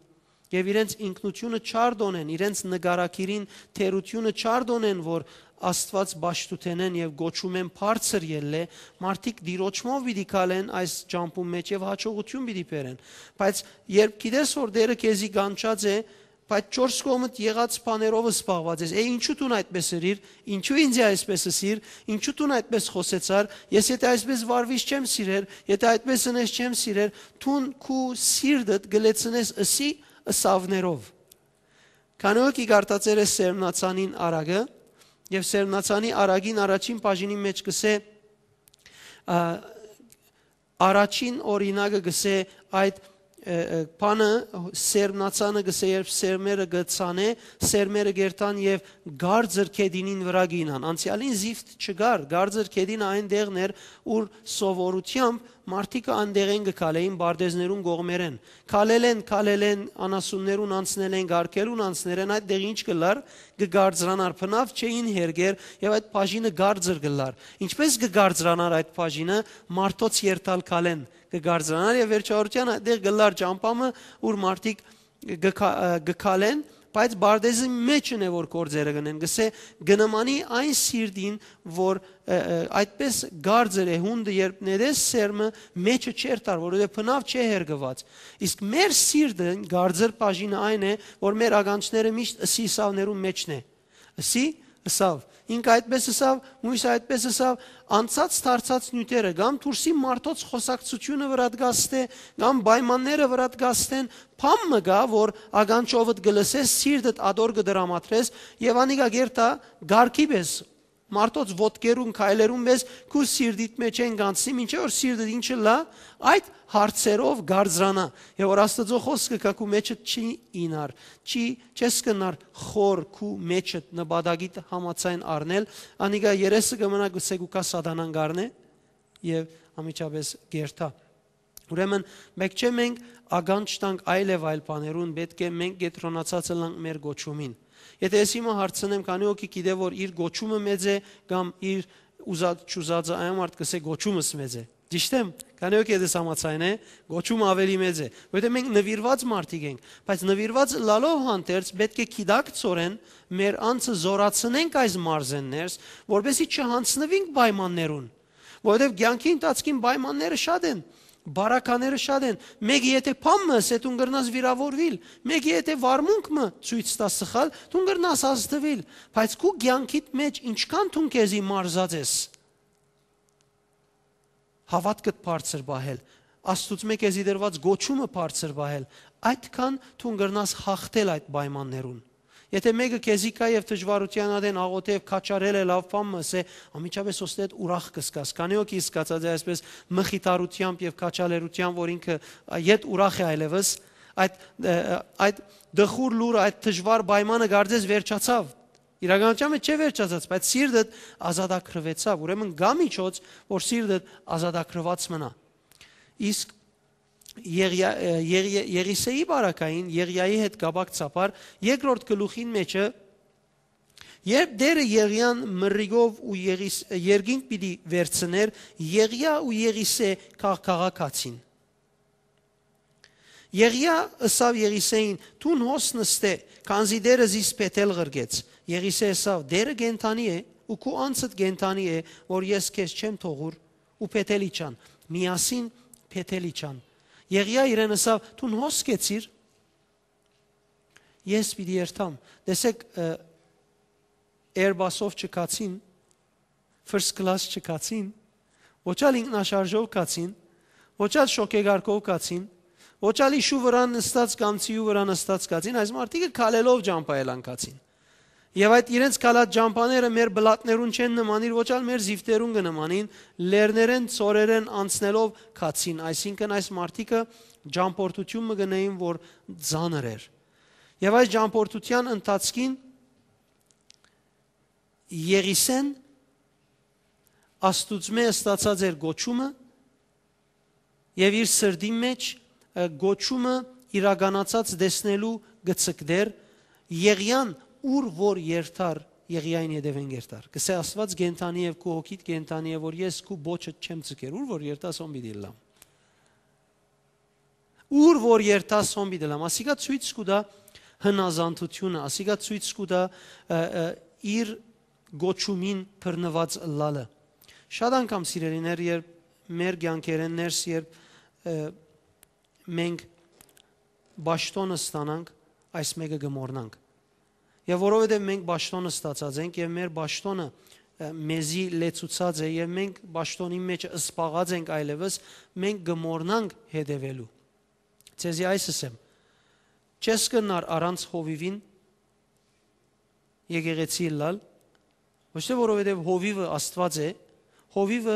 եւ իրենց ինքնութիւնը չարդոնեն, իրենց նկարագիրին թերութիւնը չարդոնեն, որ Աստուած պաշտութենէն եւ կոչումէն բարձր ելլէ, մարդիկ դիրոճմով պիտի քալեն այս ճամբուն մէջ եւ յաջողութիւն պիտի բերեն։ Բայց երբ գիտես որ Տէրը քեզի կանչած է, բայց չորս կողմդ եղած բաներով զբաղված ես, է, ինչու դուն այդպես ըրիր, ինչու ինձի այսպես ըսիր, ինչու դուն այդպես խօսեցար, ես եթե այսպես վարվիս չեմ սիրեր, եթե այդպես ընես չեմ սիրեր, դուն քու սիրտդ գլեցնես ըսի ըսավներով։ Քանի որ կի կարդացեր է Սերմնացանին արագը, եւ Սերմնացանի արագին առաջին բաժինի մեջ կսե, ա, առաջին օրինակը կսե այդ, ը, ը, բանը, Սերմնացանը կսե, երբ սերմերը կցանե, սերմերը գերտան եւ գարձր քեդինին վրա կինան։ Անցյալին զիֆտ չկար, գարձր քեդինը այն դեղն էր, ուր սովորությամբ մարդիկը անդեղեն կը քալեին բարդեզներուն կողմերեն։ Քալելեն, քալելեն, անասուններուն անցնելեն, գարկերուն անցներեն, այդ դեղ ինչ կլար, կը գարձրանար, բնավ չէին հերգեր եւ այդ բաժինը գարձր կլար։ Ինչպես կը գարձրանար այդ բաժինը, մարդոց երթալ քալեն կը գարձրանար եւ վերջավորության այդ դեղ կլար ճամբամը, ուր մարդիկ կը քա-, ը, կը քալեն, բայց բարդեզի մէջն է որ գործերը կնեն, գսե կնմանի այն սիրտին, որ, ը, ը, այդպես գարձր է, հունդը երբ ներես սերմը, մեջը չերթար, որովհետեւ բնավ չէ հերգված։ Իսկ մեր սիրտը, գարձր բաժինը այն է, որ մեր ականջները միշտ ըսի ըսավներուն մեջն է։ Ըսի ըսավ, ինք այդպես ըսավ, մույս այդպես ըսավ, անցած դարձած նիւթերը, կամ դուրսի մարդոց խօսակցութիւնը վրատ գաստէ, կամ պայմանները վրատ գաստեն, բան մը կայ, որ ականջովդ կը լսես, սիրտդ ատոր կը դրամատրես, եւ անիկա գերտա գարկի պես, մարդոց ոտքերուն, քայլերուն պես, քու սիրտիդ մեջ են կանցնի, մինչեւ որ սիրտդ ինչը լա, այդ հարցերով գարձրանայ, եւ որ Աստուծոյ խօսքը կայ քու մեջդ չի ինար, չի, չես կնար խոր քու մեջդ նպատակիդ համաձայն առնել, անիկա երեսը կը մնայ, գսե կու կայ սատանան գարնէ, եւ անմիջապէս կերթայ։ Ուրեմն, մէկ չէ մենք ականջ տանք այլ եւ այլ բաներուն, պէտք է մենք կեդրոնացած ըլանք մեր կոչումին։ Եթե ես հիմա հարցնեմ, քանի՞ հոգի գիտէ որ իր կոչումը մեծ է, կամ իր ուզած չուզածը, այն մարդ կսե կոչումս մեծ է։ Ճիշտ եմ, քանի՞ հոգի դες համաձայն է, կոչումը ավելի մեծ է, որովհետեւ մենք նվիրված մարդիկ ենք, բայց նվիրված լալով հանդերձ պէտք է գիտակցորեն մեր անձը զորացնենք այս մարզեն ներս, որպեսզի չհանձնվենք պայմաններուն, որովհետեւ կեանքի ընթացքին պայմանները շատ են, բարակաները շատ են, մեկը եթե բան մը ըսե, դուն կրնաս վիրավորվել, մեկը եթե վարմունք մը ցույց տա սխալ, դուն կրնաս ազդվել, բայց քու կեանքիդ մեջ ինչքան դուն քեզի մարզած ես, հաւատքդ բարձր պահել, Աստուծմէ քեզի դրված կոչումը բարձր պահել, այդքան դուն կրնաս հաղթել այդ պայմաններուն։ Եթե մեկը քեզի կայ եւ դժուարութեան ատեն աղօթէ եւ քաչարել է լաւ բան մը, ըսե, անմիջապէս ըստ այդ ուրախ կը զգաս, քանի՞ հոգի զգացած է այսպես մխիթարութեամբ եւ քաչալերութեամբ, որ ինքը, ա, ետ ուրախ է այլեւս, այդ, ը, ը, այդ տխուր լուրը, այդ դժուար պայմանը կարծես վերջացաւ։ Իրականության մեջ չէ վերջացած, բայց սիրտդ ազատագրուեցաւ, ուրեմն կայ միջոց, որ սիրտդ ազատագրուած մնայ։ Իսկ Եղիա-, ը, Եղիա-, Եղիսեի բարակային, Եղիայի հետ կապակցաբար, երկրորդ գլուխին մեջը, երբ Տէրը Եղիան մրրիկով ու Եղիս-, երկինք պիտի վերցներ, Եղիա ու Եղիսէ քաղ-, քաղաքացին։ Եղիա ըսաւ Եղիսեին. «Դուն հոս նստէ, քանզի Տէրը զիս փեթել ղրկեց»։ Եղիսէ ըսաւ. «Տէրը կենդանի է, ու քու անձդ կենդանի է, որ ես քեզ չեմ թողուր, ու փեթել իջան, միասին փեթել իջան։ Եղիա իրեն ըսաւ. «Դուն հոս կեցիր, ես պիտի երթամ»։ Տեսեք, ը, Airbus-ով չկացին, first class չկացին, ոչ ալ ինքնաշարժով կացին, ոչ ալ շոգեգարկով կացին, ոչ ալ իշու վրան նստած կամ ցիու վրան նստած կացին, այս մարդիկը քալելով ճամբայել անկացին։ Եւ այդ իրենց քալած ճամբաները մեր բլատներուն չեն նմանիր, ոչ ալ մեր զիվտերուն կը նմանին, լեռներեն, ծորերեն անցնելով կացին, այսինքն այս մարդիկը ճամբորդություն մը գնային, որ ծանր էր։ Եւ այս ճամբորդության ընթացքին Եղիսեն Աստուծմէ ստացած էր գոչումը եւ իր սրտին մէջ, ը, գոչումը իրականացած տեսնելու գցկտեր Եղիան, ուր որ երթար, Եղիային հետևեն երթար։ Կսե Աստուած կենդանի եւ քու հոգիդ կենդանի է, որ ես քու բոչը չեմ ձգեր, ուր որ երթաս հոն պիտի լամ։ Ուր որ երթաս հոն պիտի լամ։ Ասիկա ցոյց կու տայ հնազանդությունը, ասիկա ցոյց կու տայ, ը, ը, իր գոչումին բռնուած ըլլալը։ Շատ անգամ, սիրելիներ, երբ մեր կյանքերեն ներս, երբ, ը, մենք պաշտոնը ստանանք, այս մէկը կը մոռնանք։ Եւ որովհետեւ մենք պաշտոնը ստացած ենք եւ մեր պաշտոնը, ը, մեզի լեցուցած է եւ մենք պաշտոնին մէջ զբաղած ենք այլեւս, մենք կը մոռնանք հետեւելու։ Ձեզի այս ըսեմ. չես կրնար առանց հովիւին եկեղեցի ըլլալ, ոչ թէ որովհետեւ հովիւը Աստուած է, հովիւը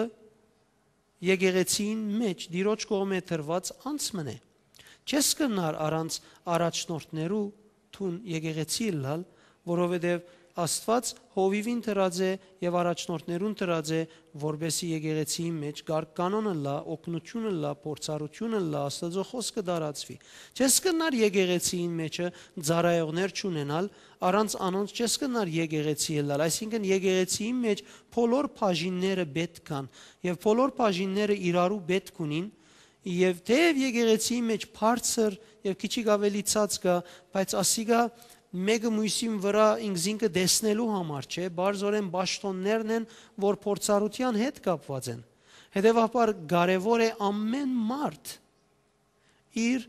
եկեղեցիին մէջ Տիրոջ կողմէ տրուած անձ մըն է։ Չես կրնար առանց առաջնորդներու դուն եկեղեցի ըլլալ, որովհետեւ Աստուած հովիւին տրած է եւ առաջնորդներուն տրած է, որպէսզի եկեղեցիին մէջ կարգ կանոն ըլլայ, օգնություն ըլլայ, փորձառություն ըլլայ, Աստուծոյ խօսքը տարածուի։ Չես կրնար եկեղեցիին մէջը ծառայողներ չունենալ, առանց անոնց չես կրնար եկեղեցի ըլլալ, այսինքն եկեղեցիին մէջ բոլոր բաժինները պէտք կան եւ բոլոր բաժինները իրարու պէտք ունին, եւ թէեւ եկեղեցիի մէջ բարձր եւ քիչիկ աւելի ցած կայ, բայց ասիկա մէկը միւսին վրայ ինքզինքը տեսնելու համար չէ, բարձրօրէն պաշտոններն են, որ փորձառութեան հետ կապուած են։ Հետեւաբար կարեւոր է ամէն մարդ իր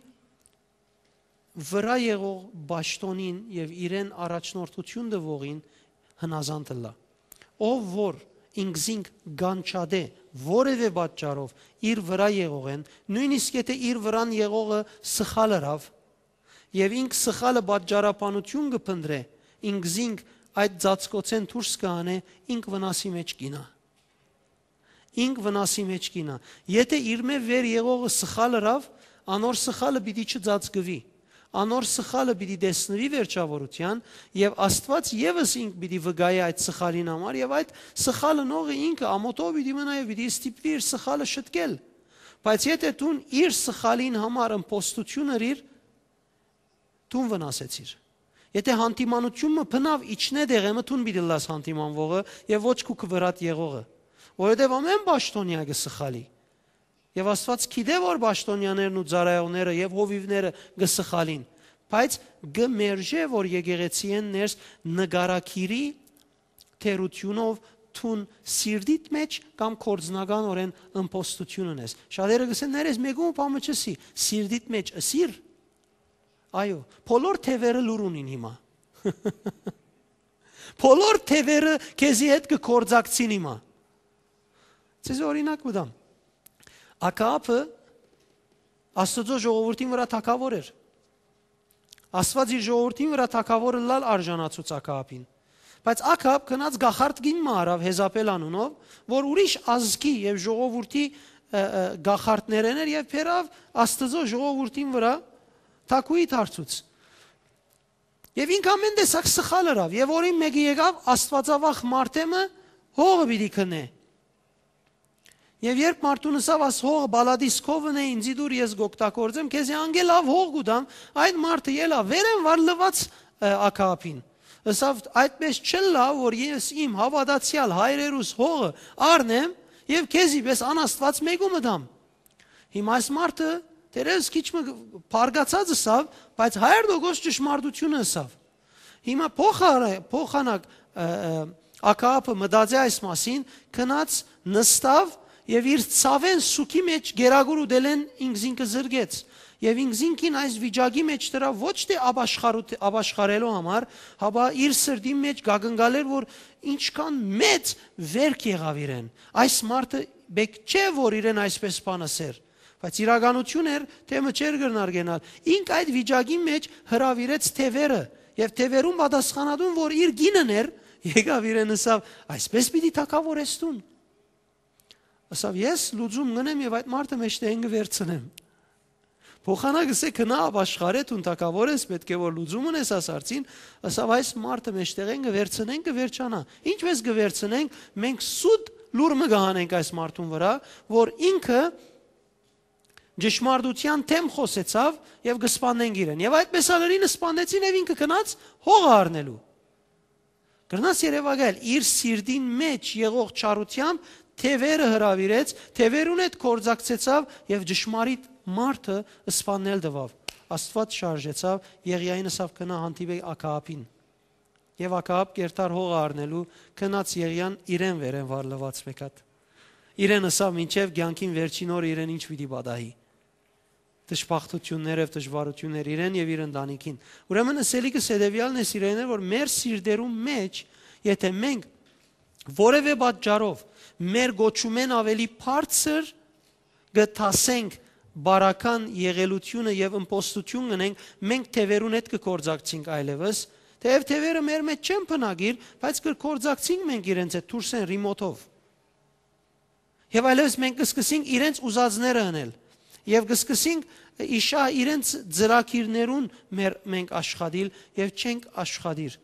վրայ եղող պաշտոնին եւ իրեն առաջնորդություն տուողին հնազանդ ըլլայ։ Ով որ ինքզինք կանչատէ որեւէ պատճառով իր վրայ եղողէն, նոյնիսկ եթէ իր վրան եղողը սխալ ըրաւ, եւ ինք սխալը պատճառաբանություն կը փնտռէ, ինքզինք այդ ծածկոցէն դուրս կը հանէ, ինք վնասի մէջ կ'իյնայ։ Ինք վնասի մէջ կ'իյնայ։ Եթէ իրմէ վեր եղողը սխալ ըրաւ, անոր սխալը պիտի չծածկուի։ Անոր սխալը պիտի տեսնուի վերջաւորութեան, եւ Աստուած եւս ինք պիտի վկայէ այդ սխալին համար, եւ այդ սխալ ընողը ինքը ամօթով պիտի մնայ եւ պիտի ստիպուի իր սխալը շտկել։ Բայց եթէ դուն իր սխալին համար ըմբոստություն ըրիր, դուն վնասեցիր։ Եթէ յանդիմանութիւն մը բնաւ իջնէ տեղէ մը, դուն պիտի ըլլաս յանդիմանուողը եւ ոչ քու, քու վրադ եղողը, որովհետեւ ամէն պաշտօնեայ կը սխալի։ Եւ Աստուած գիտէ, որ պաշտօնեաներն ու ծառայողները եւ հովիւները կը սխալին, բայց կը մերժէ, որ եկեղեցիէն ներս նկարագիրի թերութիւնով դուն սիրտիդ մէջ կամ գործնականօրէն ըմբոստություն ունես։ Շատերը կ'ըսեն. «Ներես, մեկու բան մը չ'ըսի, սիրտիդ մէջ ըսիր»։ Այո, բոլոր թեւերը լուր ունին հիմա։ Բոլոր թեւերը քեզի հետ կը գործակցին հիմա։ Ձեզ օրինակ մը տամ։ Ակաաբը Աստուծոյ ժողովուրդին վրայ թագաւոր էր։ Աստուած իր ժողովուրդին վրայ թագաւոր ըլլալ արժանացուց Ակաաբին։ Բայց Ակաաբ գնաց կախարդ կին մը առաւ Հեզապել անունով, որ ուրիշ ազգի եւ ժողովուրդի, ը, ը, կախարդներէն էր եւ բերաւ Աստուծոյ ժողովուրդին վրայ թագուհի դարձուց։ Եւ ինք ամէն տեսակ սխալ ըրաւ, եւ օրին մէկը եկաւ, աստուածավախ մարդէ մը հողը պիտի գնէ։ Եւ երբ մարդուն ըսաւ, աս հողը բալատիս քովն է, ինձի դուր, ես կ'օգտագործեմ, քեզի անգէ լաւ հող կու տամ, այդ մարդը ելա, վերեն վար լուաց, ը, Ակաաբին։ Ըսաւ, այդպես չըլլայ, որ ես իմ հաւատացեալ հայրերուս հողը առնեմ եւ քեզի պէս անաստուած մեկու մը տամ։ Հիմա այս մարդը, թերևս քիչ մը բարկացած ըսաւ, բայց հարիւր տոկոս ճշմարտությունը ըսաւ։ Հիմա փոխարե-, փոխանակ, ը, ը, Ակաապը մտածէ այս մասին, գնաց նստաւ եւ իր ցաւէն սուքի մէջ գերագուր ուտելէն ինքզինքը զրկեց։ Եւ ինքզինքին այս վիճակի մէջ դրաւ ոչ թէ ապաշխարութ-, ապաշխարելու համար, հապա իր սրտին մէջ կակնկալէր, որ ինչքան մեծ վերք եղաւ իրեն։ Այս մարդը պէտք չէ, որ իրեն այսպէս բան ըսէր, բայց իրականություն էր, թէ մը չէր կրնար կենալ։ Ինք այդ վիճակի մէջ հրաւիրեց թեւերը, եւ թեւերուն պատասխանատուն, որ իր կինն էր, եկաւ իրեն ըսաւ. «Այսպէս պիտի թագաւորես դուն»։ Ըսաւ. «Ես լուծում կ'ընեմ եւ այդ մարդը մէջտեղէն կը վերցնեմ»։ Փոխանակ ըսէ. «Գնա, ապաշխարէ, դուն թագաւոր ես, պէտք է որ լուծում ունես այս հարցին»։ Ըսաւ. «Այս մարդը մէջտեղէն կը վերցնենք, կը վերջանայ»։ Ինչպէս կը վերցնենք, մենք սուտ լուր մը կը հանենք այս մարդուն վրայ, որ ինքը ճշմարտութեան դէմ խօսեցաւ եւ կը սպաննենք իրեն։ Եւ այդպէս ալ ըրին սպաննեցին եւ ինքը գնաց հողը առնելու։ Կրնաս երեւակայել, իր սիրտին մէջ եղող չարութեամբ թեւերը հրաւիրեց, թեւերուն հետ գործակցեցաւ եւ ճշմարիտ մարդը սպաննել տուաւ։ Աստուած շարժեցաւ, Եղիային ըսաւ. «Գնա, հանդիպէ Ակաապին»։ Եւ Ակաապ կերտար հողը առնելու, գնաց Եղիան իրեն վերեն վարլուած մէկատ։ Իրեն ըսաւ. «Մինչեւ կեանքին վերջին օրը իրեն ինչ պիտի պատահի»։ Դժբախտութիւններ եւ դժուարութիւններ իրեն եւ իր ընտանիքին։ Ուրեմն ըսելիքս հետեւեալն է, սիրելիներ, որ մեր սիրտերուն մէջ, եթէ մենք որեւէ պատճառով մեր կոչումէն աւելի բարձր կը դասենք բարական եղելութիւնը եւ ըմբոստութիւն կ'ընենք, մենք թեւերուն հետ կը գործակցենք այլեւս, թէեւ թեւերը մեր մէջ չեն բնակիր, բայց կը գործակցենք մենք իրենց հետ դուրս են ռիմոթով։ Եւ այլեւս մենք կը սկսենք իրենց ուզածները ընել։ Եւ կը սկսենք իշա իրենց ծրագիրներուն մեր, մենք աշխատիլ եւ չենք աշխատիր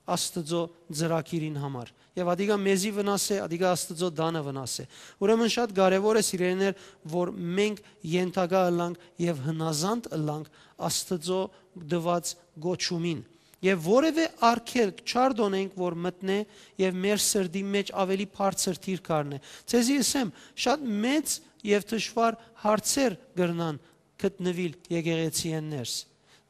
Աստուծոյ ծրագիրին համար։ Եւ ադիկա մեզի վնաս է, ադիկա Աստուծոյ տանը վնաս է։ Ուրեմն շատ կարեւոր է, սիրելիներ, որ մենք ենթակայ ըլլանք եւ հնազանդ ըլլանք Աստուծոյ տուած կոչումին։ Եւ որեւէ արգելք չ'արթոնենք, որ մտնէ եւ մեր սրտի մէջ աւելի բարձր դիրք առնէ։ Ձեզի ըսեմ, շատ մեծ եւ դժուար հարցեր կրնան գտնուիլ եկեղեցիէն ներս,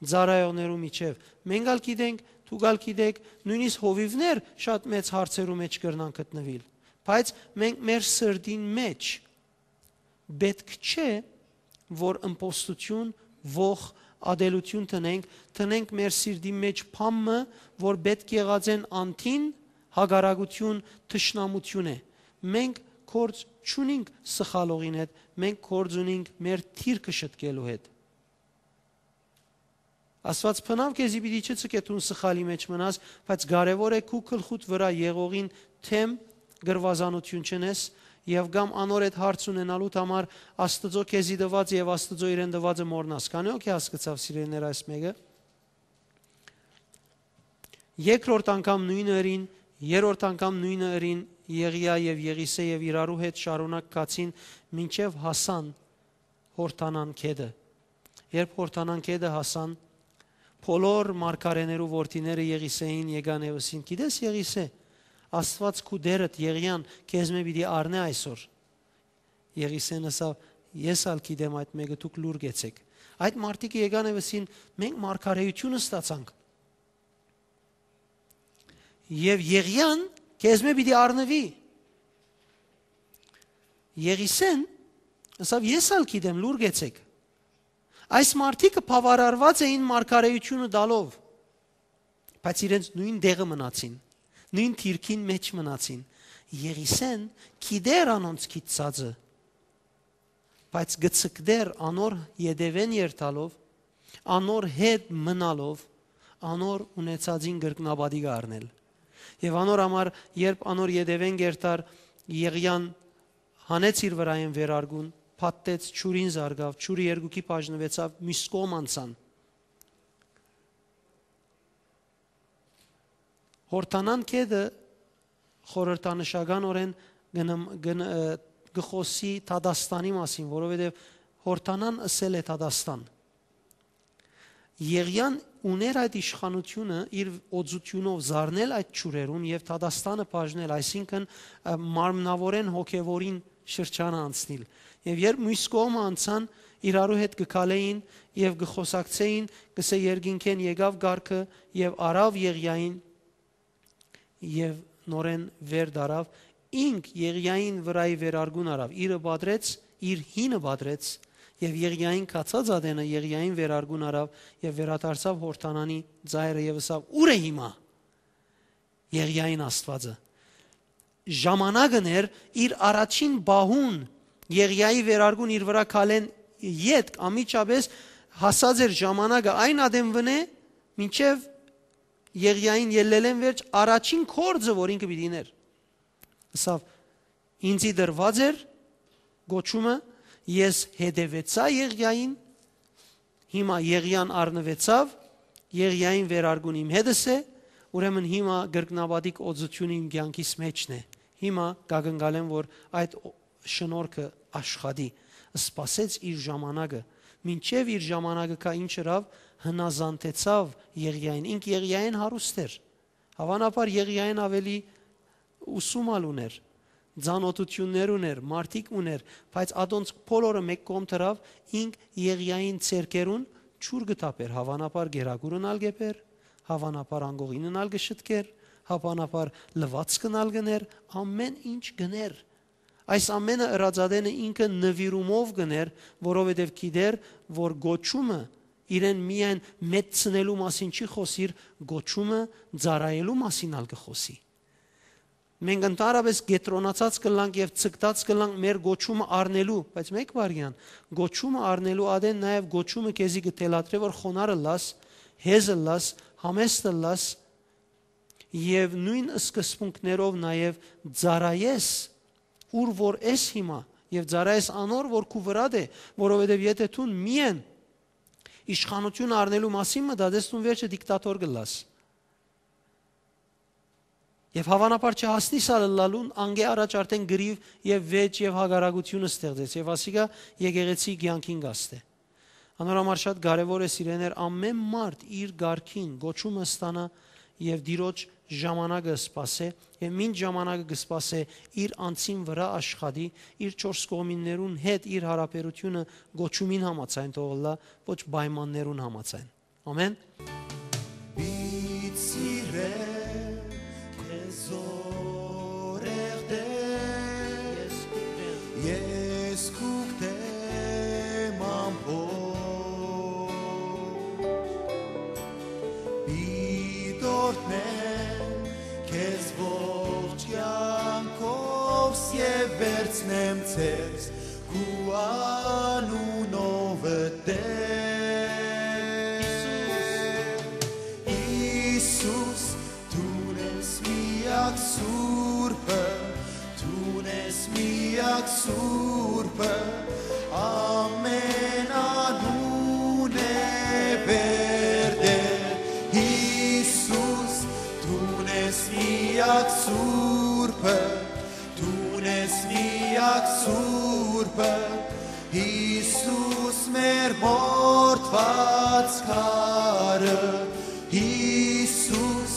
ծառայողներու միջեւ։ Մենք ալ գիտենք, դուք ալ գիտեք, նոյնիսկ հովիւներ շատ մեծ հարցերու մէջ կրնան գտնուիլ։ Բայց մենք մեր սրտին մէջ պէտք չէ, որ ըմբոստութիւն, ոխ, ատելութիւն տնենք, տնենք մեր սիրտի մէջ բան մը, որ պէտք եղած են անդին, հակառակութիւն, թշնամութիւն է։ Մենք գործ չունինք սխալողին հետ, մենք գործ ունինք մեր դիրքը շտկելու հետ։ Աստուած բնաւ քեզի պիտի չցկէ դուն սխալի մէջ մնաս, բայց կարեւոր է քու գլխուդ վրայ եղողին դէմ կռուազանութիւն չընես եւ կամ անոր հետ հարց ունենալուդ համար Աստուծոյ քեզի տուած եւ Աստուծոյ իրեն տուածը մոռնաս։ Քանի՞ հոգի հասկցաւ, սիրելիներ, այս մէկը։ Երկրորդ անգամ նոյնը ըրին, երրորդ անգամ նոյնը ըրին Եղիա եւ Եղիսէ եւ իրարու հետ շարունակ գացին, մինչեւ հասան Յորդանան գետը։ Երբ Յորդանան գետը հասան, բոլոր մարգարէներու որդիները Եղիսէին եկան եւ ըսին. «Գիտես, Եղիսէ, Աստուած քու Տէրդ Եղիան քեզմէ պիտի առնէ այսօր»։ Եղիսէն ըսաւ. «Ես ալ գիտեմ այդ մէկը, դուք լուր կեցէք»։ Այդ մարդիկը եկան եւ ըսին. «Մենք մարգարէութիւն ստացանք։ Եւ Եղիան քեզմէ պիտի առնուի»։ Եղիսէն ըսաւ. «Ես ալ գիտեմ, լուր կեցէք»։ Այս մարդիկը բաւարարուած էին մարգարէութիւնը տալով, բայց իրենց նոյն տեղը մնացին, նոյն դիրքին մէջ մնացին։ Եղիսէն գիտէր անոնց գիտցածը, բայց գցկտեր անոր ետեւէն երթալով, անոր հետ մնալով, անոր ունեցածին կրկնապատիկ առնել։ Եւ անոր համար, երբ անոր ետեւէն կերտար, Եղիան հանեց իր վրայէն վերարկուն, փաթթեց, ջուրին զարկաւ, ջուրը երկուքի բաժնուեցաւ, միւս կողմ անցան։ Յորդանան գետը խորհրդանշականօրէն կը նմ-, կը ն-, ը, կը խօսի դատաստանի մասին, որովհետեւ Յորդանան ըսել է դատաստան։ Եղիան ունէր այդ իշխանութիւնը իր օծութիւնով զարնել այդ ջուրերուն եւ դատաստանը բաժնել, այսինքն, ը, մարմնաւորէն հոգեւորին շրջանը անցնիլ։ Եւ երբ միւս կողմը անցան, իրարու հետ կը քալէին եւ կը խօսակցէին, կսէ երկինքէն եկաւ կարգը եւ առաւ Եղիային եւ նորէն վեր դարաւ, ինք Եղիային վրայի վերարկուն առաւ, իրը պատրեց, իր հինը պատրեց, եւ Եղիային գացած ատենը Եղիային վերարկուն առաւ եւ վերադարձաւ Յորդանանի ծայրը եւ ըսաւ. «Ո՞ւր է հիմա Եղիային Աստուածը»։ Ժամանակն էր, իր առաջին պահուն Եղիայի վերարկուն իր վրայ քալեն ետք անմիջապէս հասած էր ժամանակը այն ատեն վնէ, մինչեւ Եղիային ելլելէն վերջ առաջին գործը, որ ինքը պիտի ներ։ Ըսաւ. «Ինծի տրուած էր կոչումը, ես հետեւեցայ Եղիային, հիմա Եղիան առնուեցաւ, Եղիային վերարկուն իմ հետս է, ուրեմն հիմա կրկնապատիկ օծութիւնը իմ կեանքիս մէջն է։ Հիմա կակնկալեմ, որ այդ օ-, շնորհքը աշխատի»։ Սպասեց իր ժամանակը, մինչեւ իր ժամանակը գայ, ինչ ըրաւ, հնազանդեցաւ Եղիային։ Ինք Եղիային հարուստ էր։ Հաւանաբար Եղիային աւելի ուսում ալ ունէր, ծանօթութիւններ ունէր, մարդիկ ունէր, բայց ատոնց բոլորը մէկ կողմ դրաւ, ինք Եղիային ձեռքերուն ջուր կը թափէր, հաւանաբար կերակուրն ալ կ'էր, հաւանաբար անկողինն ալ կը շտկէր, հաւանաբար լուացքն ալ կ'ընէր, ամէն ինչ կ'ընէր։ Այս ամէնը ըրած ատենը ինքը նուիրումով կ'ընէր, որովհետեւ գիտէր, որ կոչումը իրեն միայն մեծցնելու մասին չի խօսիր, կոչումը ծառայելու մասին ալ կը խօսի։ Մենք ընդհանրապէս կեդրոնացած կ'ըլլանք եւ ձգտած կ'ըլլանք մեր կոչումը առնելու, բայց մէկ վայրկեան, կոչումը առնելու ատեն նաեւ կոչումը քեզի կը թելադրէ, որ խոնարհ ըլլաս, հեզ ըլլաս, համեստ ըլլաս եւ նոյն սկզբունքներով նաեւ ծառայես, ուր որ ես հիմա, եւ ծառայես անոր, որ քու վրադ է, որովհետեւ եթէ դուն միայն իշխանութիւնը առնելու մասին մտածես, դուն վերջը դիկտատոր կ'ըլլաս։ Եւ հաւանաբար չհասնիս ալ ըլլալուն, անկէ առաջ արդեն կռիւ եւ վէճ եւ հակառակութիւն ստեղծեց, եւ ասիկա եկեղեցի կեանքին կ'աստէ։ Անոր համար շատ կարեւոր է, սիրեներ, ամէն մարդ իր կարգին կոչումը ստանայ եւ Տիրոջ ժամանակը սպասէ, եւ մինչ ժամանակը կը սպասէ, իր անձին վրայ աշխատի, իր չորս կողմիններուն հետ իր յարաբերութիւնը կոչումին համաձայն թող ըլլայ, ոչ պայմաններուն համաձայն։ Ամէն։ Պիտի սիրեմ քեզ զորեղ Տէր, ես քուկտեմ, ես քուկտեմ ամբողջ։ Պիտի օրհնեմ քեզ ողջ կեանքովս եւ վերցնեմ ձեզ քու անունովդ Տէր։ Յիսուս, դուն ես միակ Սուրբը, դուն ես միակ Սուրբը, ամէն անուն է վեր Տէր։ Յիսուս, դուն ես միակ Սուրբը, դուն ես միակ Սուրբը, Յիսուս մեր մորթուած քարը, Յիսուս,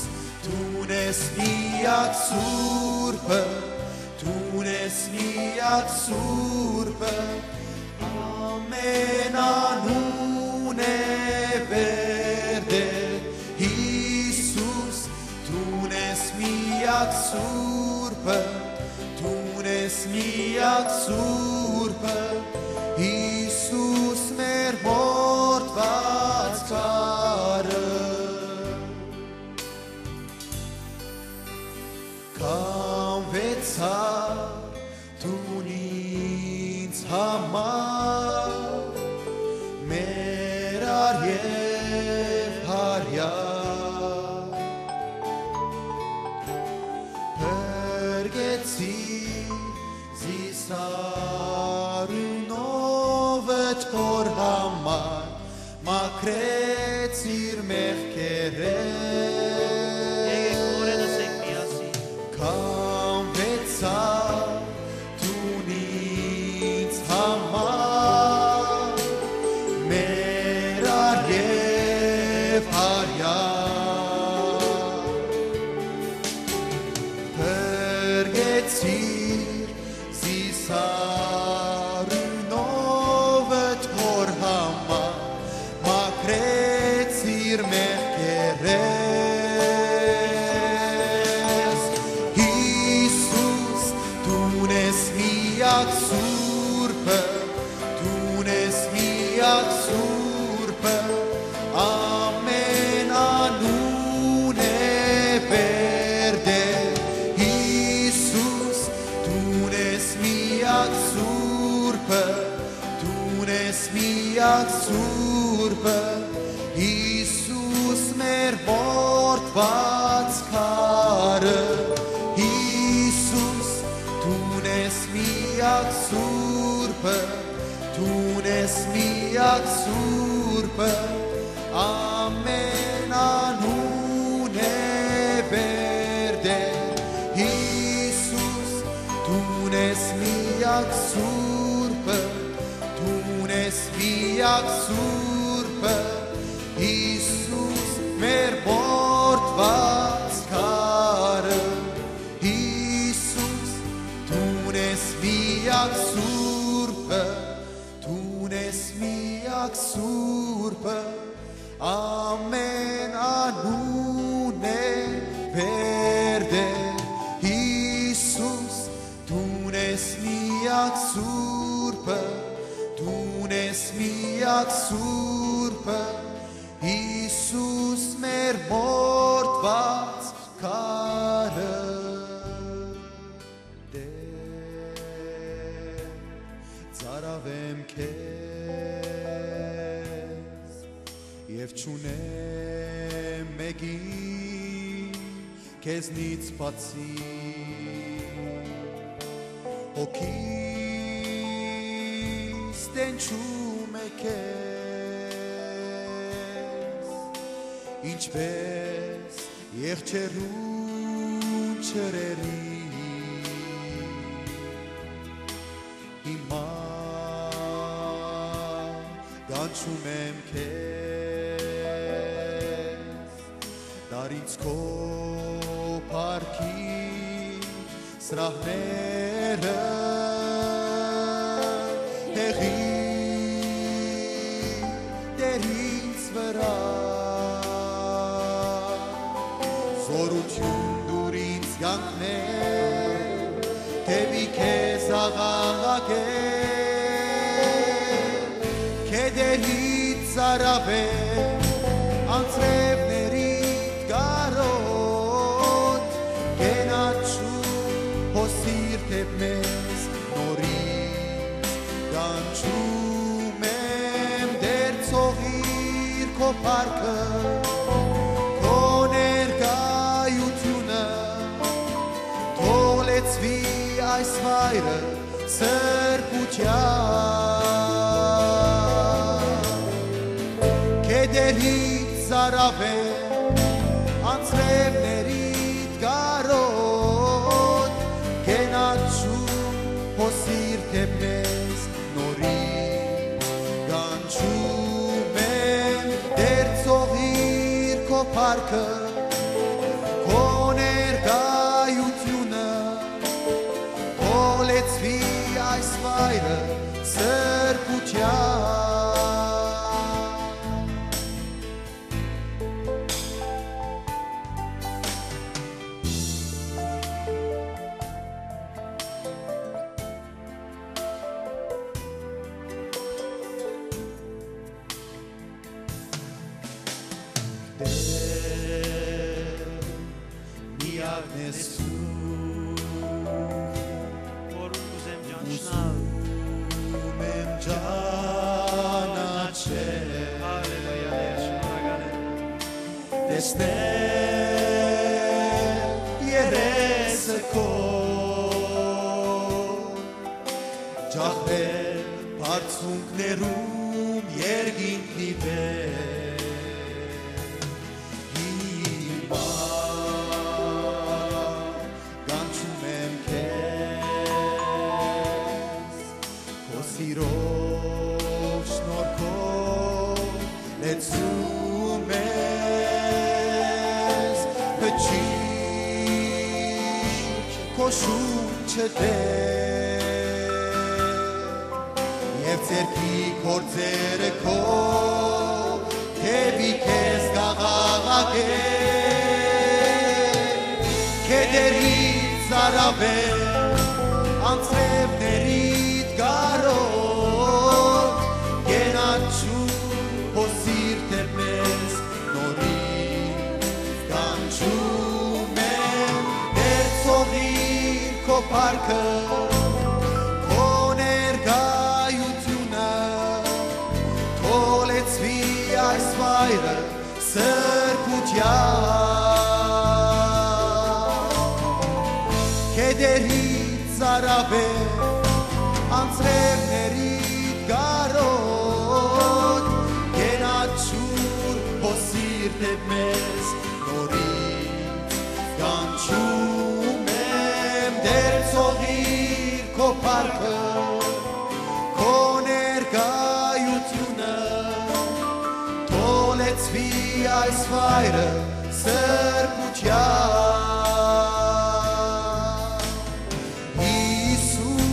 դուն ես միակ Սուրբը, դուն ես միակ Սուրբը, ամէն անուն է վեր Տէր։ Յիսուս, դուն ես միակ Սուրբը, դուն ես միակ Սուրբը, Յիսուս մեր մորթուած քարը։ Քանուեցայ դուն ինձ համար, մեր արիւ Յարեայ, փրկեցիր զիս անունովդ Հօր համար, մաքրեցիր մեղքերէս։ Եկեք նորէն ըսենք միասին. Քանուեցայ դուն ինձ համար, մեր արիւ Յարեայ, փրկեցիր զիս անունովդ Հօր համար, մաքրեցիր մեղքերէս։ Սուրբը, դուն ես միակ Սուրբը, ամեն անուն է վեր դեր։ Յիսուս, դուն ես միակ Սուրբը, դուն ես միակ Սուրբը, Յիսուս մեր մորթուած քարը, Յիսուս, դուն ես միակ Սուրբը, դուն ես միակ Սուրբը, ամեն անուն է վեր դեր։ Յիսուս, դուն ես միակ Սուրբը, դուն ես միակ Սուրբը, Յիսուս մեր մորթուած քարը, Յիսուս, դուն ես միակ Սուրբը, դուն ես միակ Սուրբը, ամեն անուն է վեր դեր։ Յիսուս, դուն ես միակ Սուրբը, դուն ես միակ Սուրբը, Յիսուս մեր մորթուած քարը։ Տէր, ծարաւեմ քեզ եւ չունեմ մեկին քեզնից բացի, հոգիս տենչում է քեզ, ինչպես եղջերուն ջրերին, հիմա կանչում եմ քեզ, տար ինձ քո փառքի սրահները, հեղի Տէր ինձ վրայ, զօրութիւն տուր ինձ կանգնել դէպի քեզ աղաղակել, քեդերիդ ծարաւել, անձրեւներիդ կարօտ, կենաչու հոսիր դէպ մեզ նորից, կանչում եմ Տէր ցողիր քո փառքը, քո ներկայութիւնը, թող լեցուի այս վայրը սրբութեան, քեդերիդ ծարաւել, անձրեւներիդ կարօտ, կենաչու հոսիր դէպ մեզ նորից, կանչում եմ Տէր ցողիր քո փառքը, քո ներկայութիւնը, թող լեցուի այս վայրը սրբութեան։ Տէր, միակն ես դու, որ կ'ուզեմ ճանչնալ, ուզում եմ ճանաչել, հալելույա, Տէր, շնորհակալ եմ, տեսնել երեսը քո, ջահրել բարձունքներում երկինքի վեր։ Հիմա կանչում եմ քեզ, քո սիրով, շնորհքով լեցու մեզ, փչի քո շունչը, Տէր, եւ ձեռքի գործերը քո դէպի քեզ կաղաղակեն, քեդերիդ ծարաւել, անձրեւների քո փառքը, քո ներկայութիւնը, թող լեցուի այս վայրը սրբութեամբ։ Քեդերիդ ծարաւէ, անձրեւներիդ կարօտ, կենաչուր հոսիր դէպ մեզ նորից, կանչում եմ, Տէր, թողիր քո փառքը, քո ներկայութիւնը, թող լեցուի այս վայրը սրբութեամբ։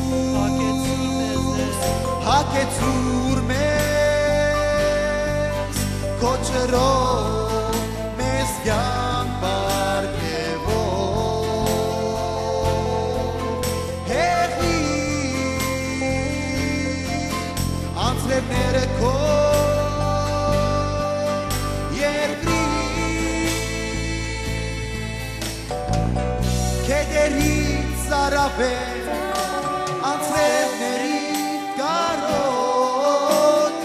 Յիսուս, հագեցուր մեզ քո ջրով, մեզ կեանք պարգեւող։ Հեղի անձրեւները քո երկրի, քեդերիդ ծարաւէ, անձրեւների կարօտ,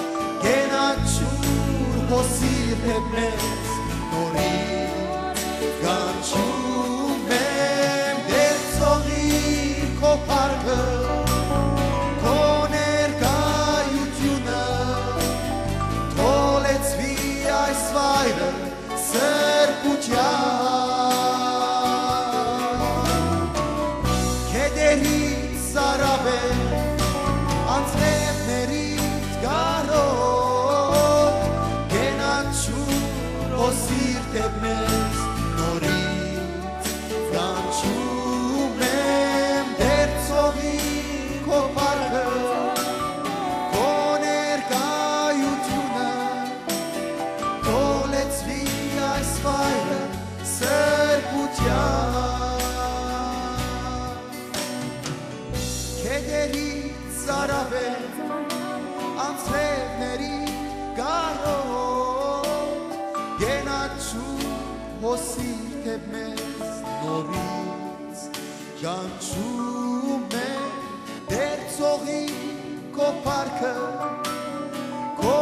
կենաչուր հոսիր դէպ մեզ նորից, կանչում եմ, Տէր, թողիր քո փառքը, քո ներկայութիւնը, թող լեցուի այս վայրը սրբութեամբ։ Քեդերիդ ծարաւէ, անձրեւներիդ կարօտ, կենաչուր հոսիր դէպ մեզ նորից, կանչում եմ, Տէր, թողիր քո փառքը, քո ներկայութիւնը, թող լեցուի այս վայրը սրբութեամբ։ Քեդերիդ ծարաւէ, անձրեւներիդ կարօտ, կենաչուր հոսիր դէպ մեզ նորից, կանչում եմ, Տէր, թողիր քո փառքը, քո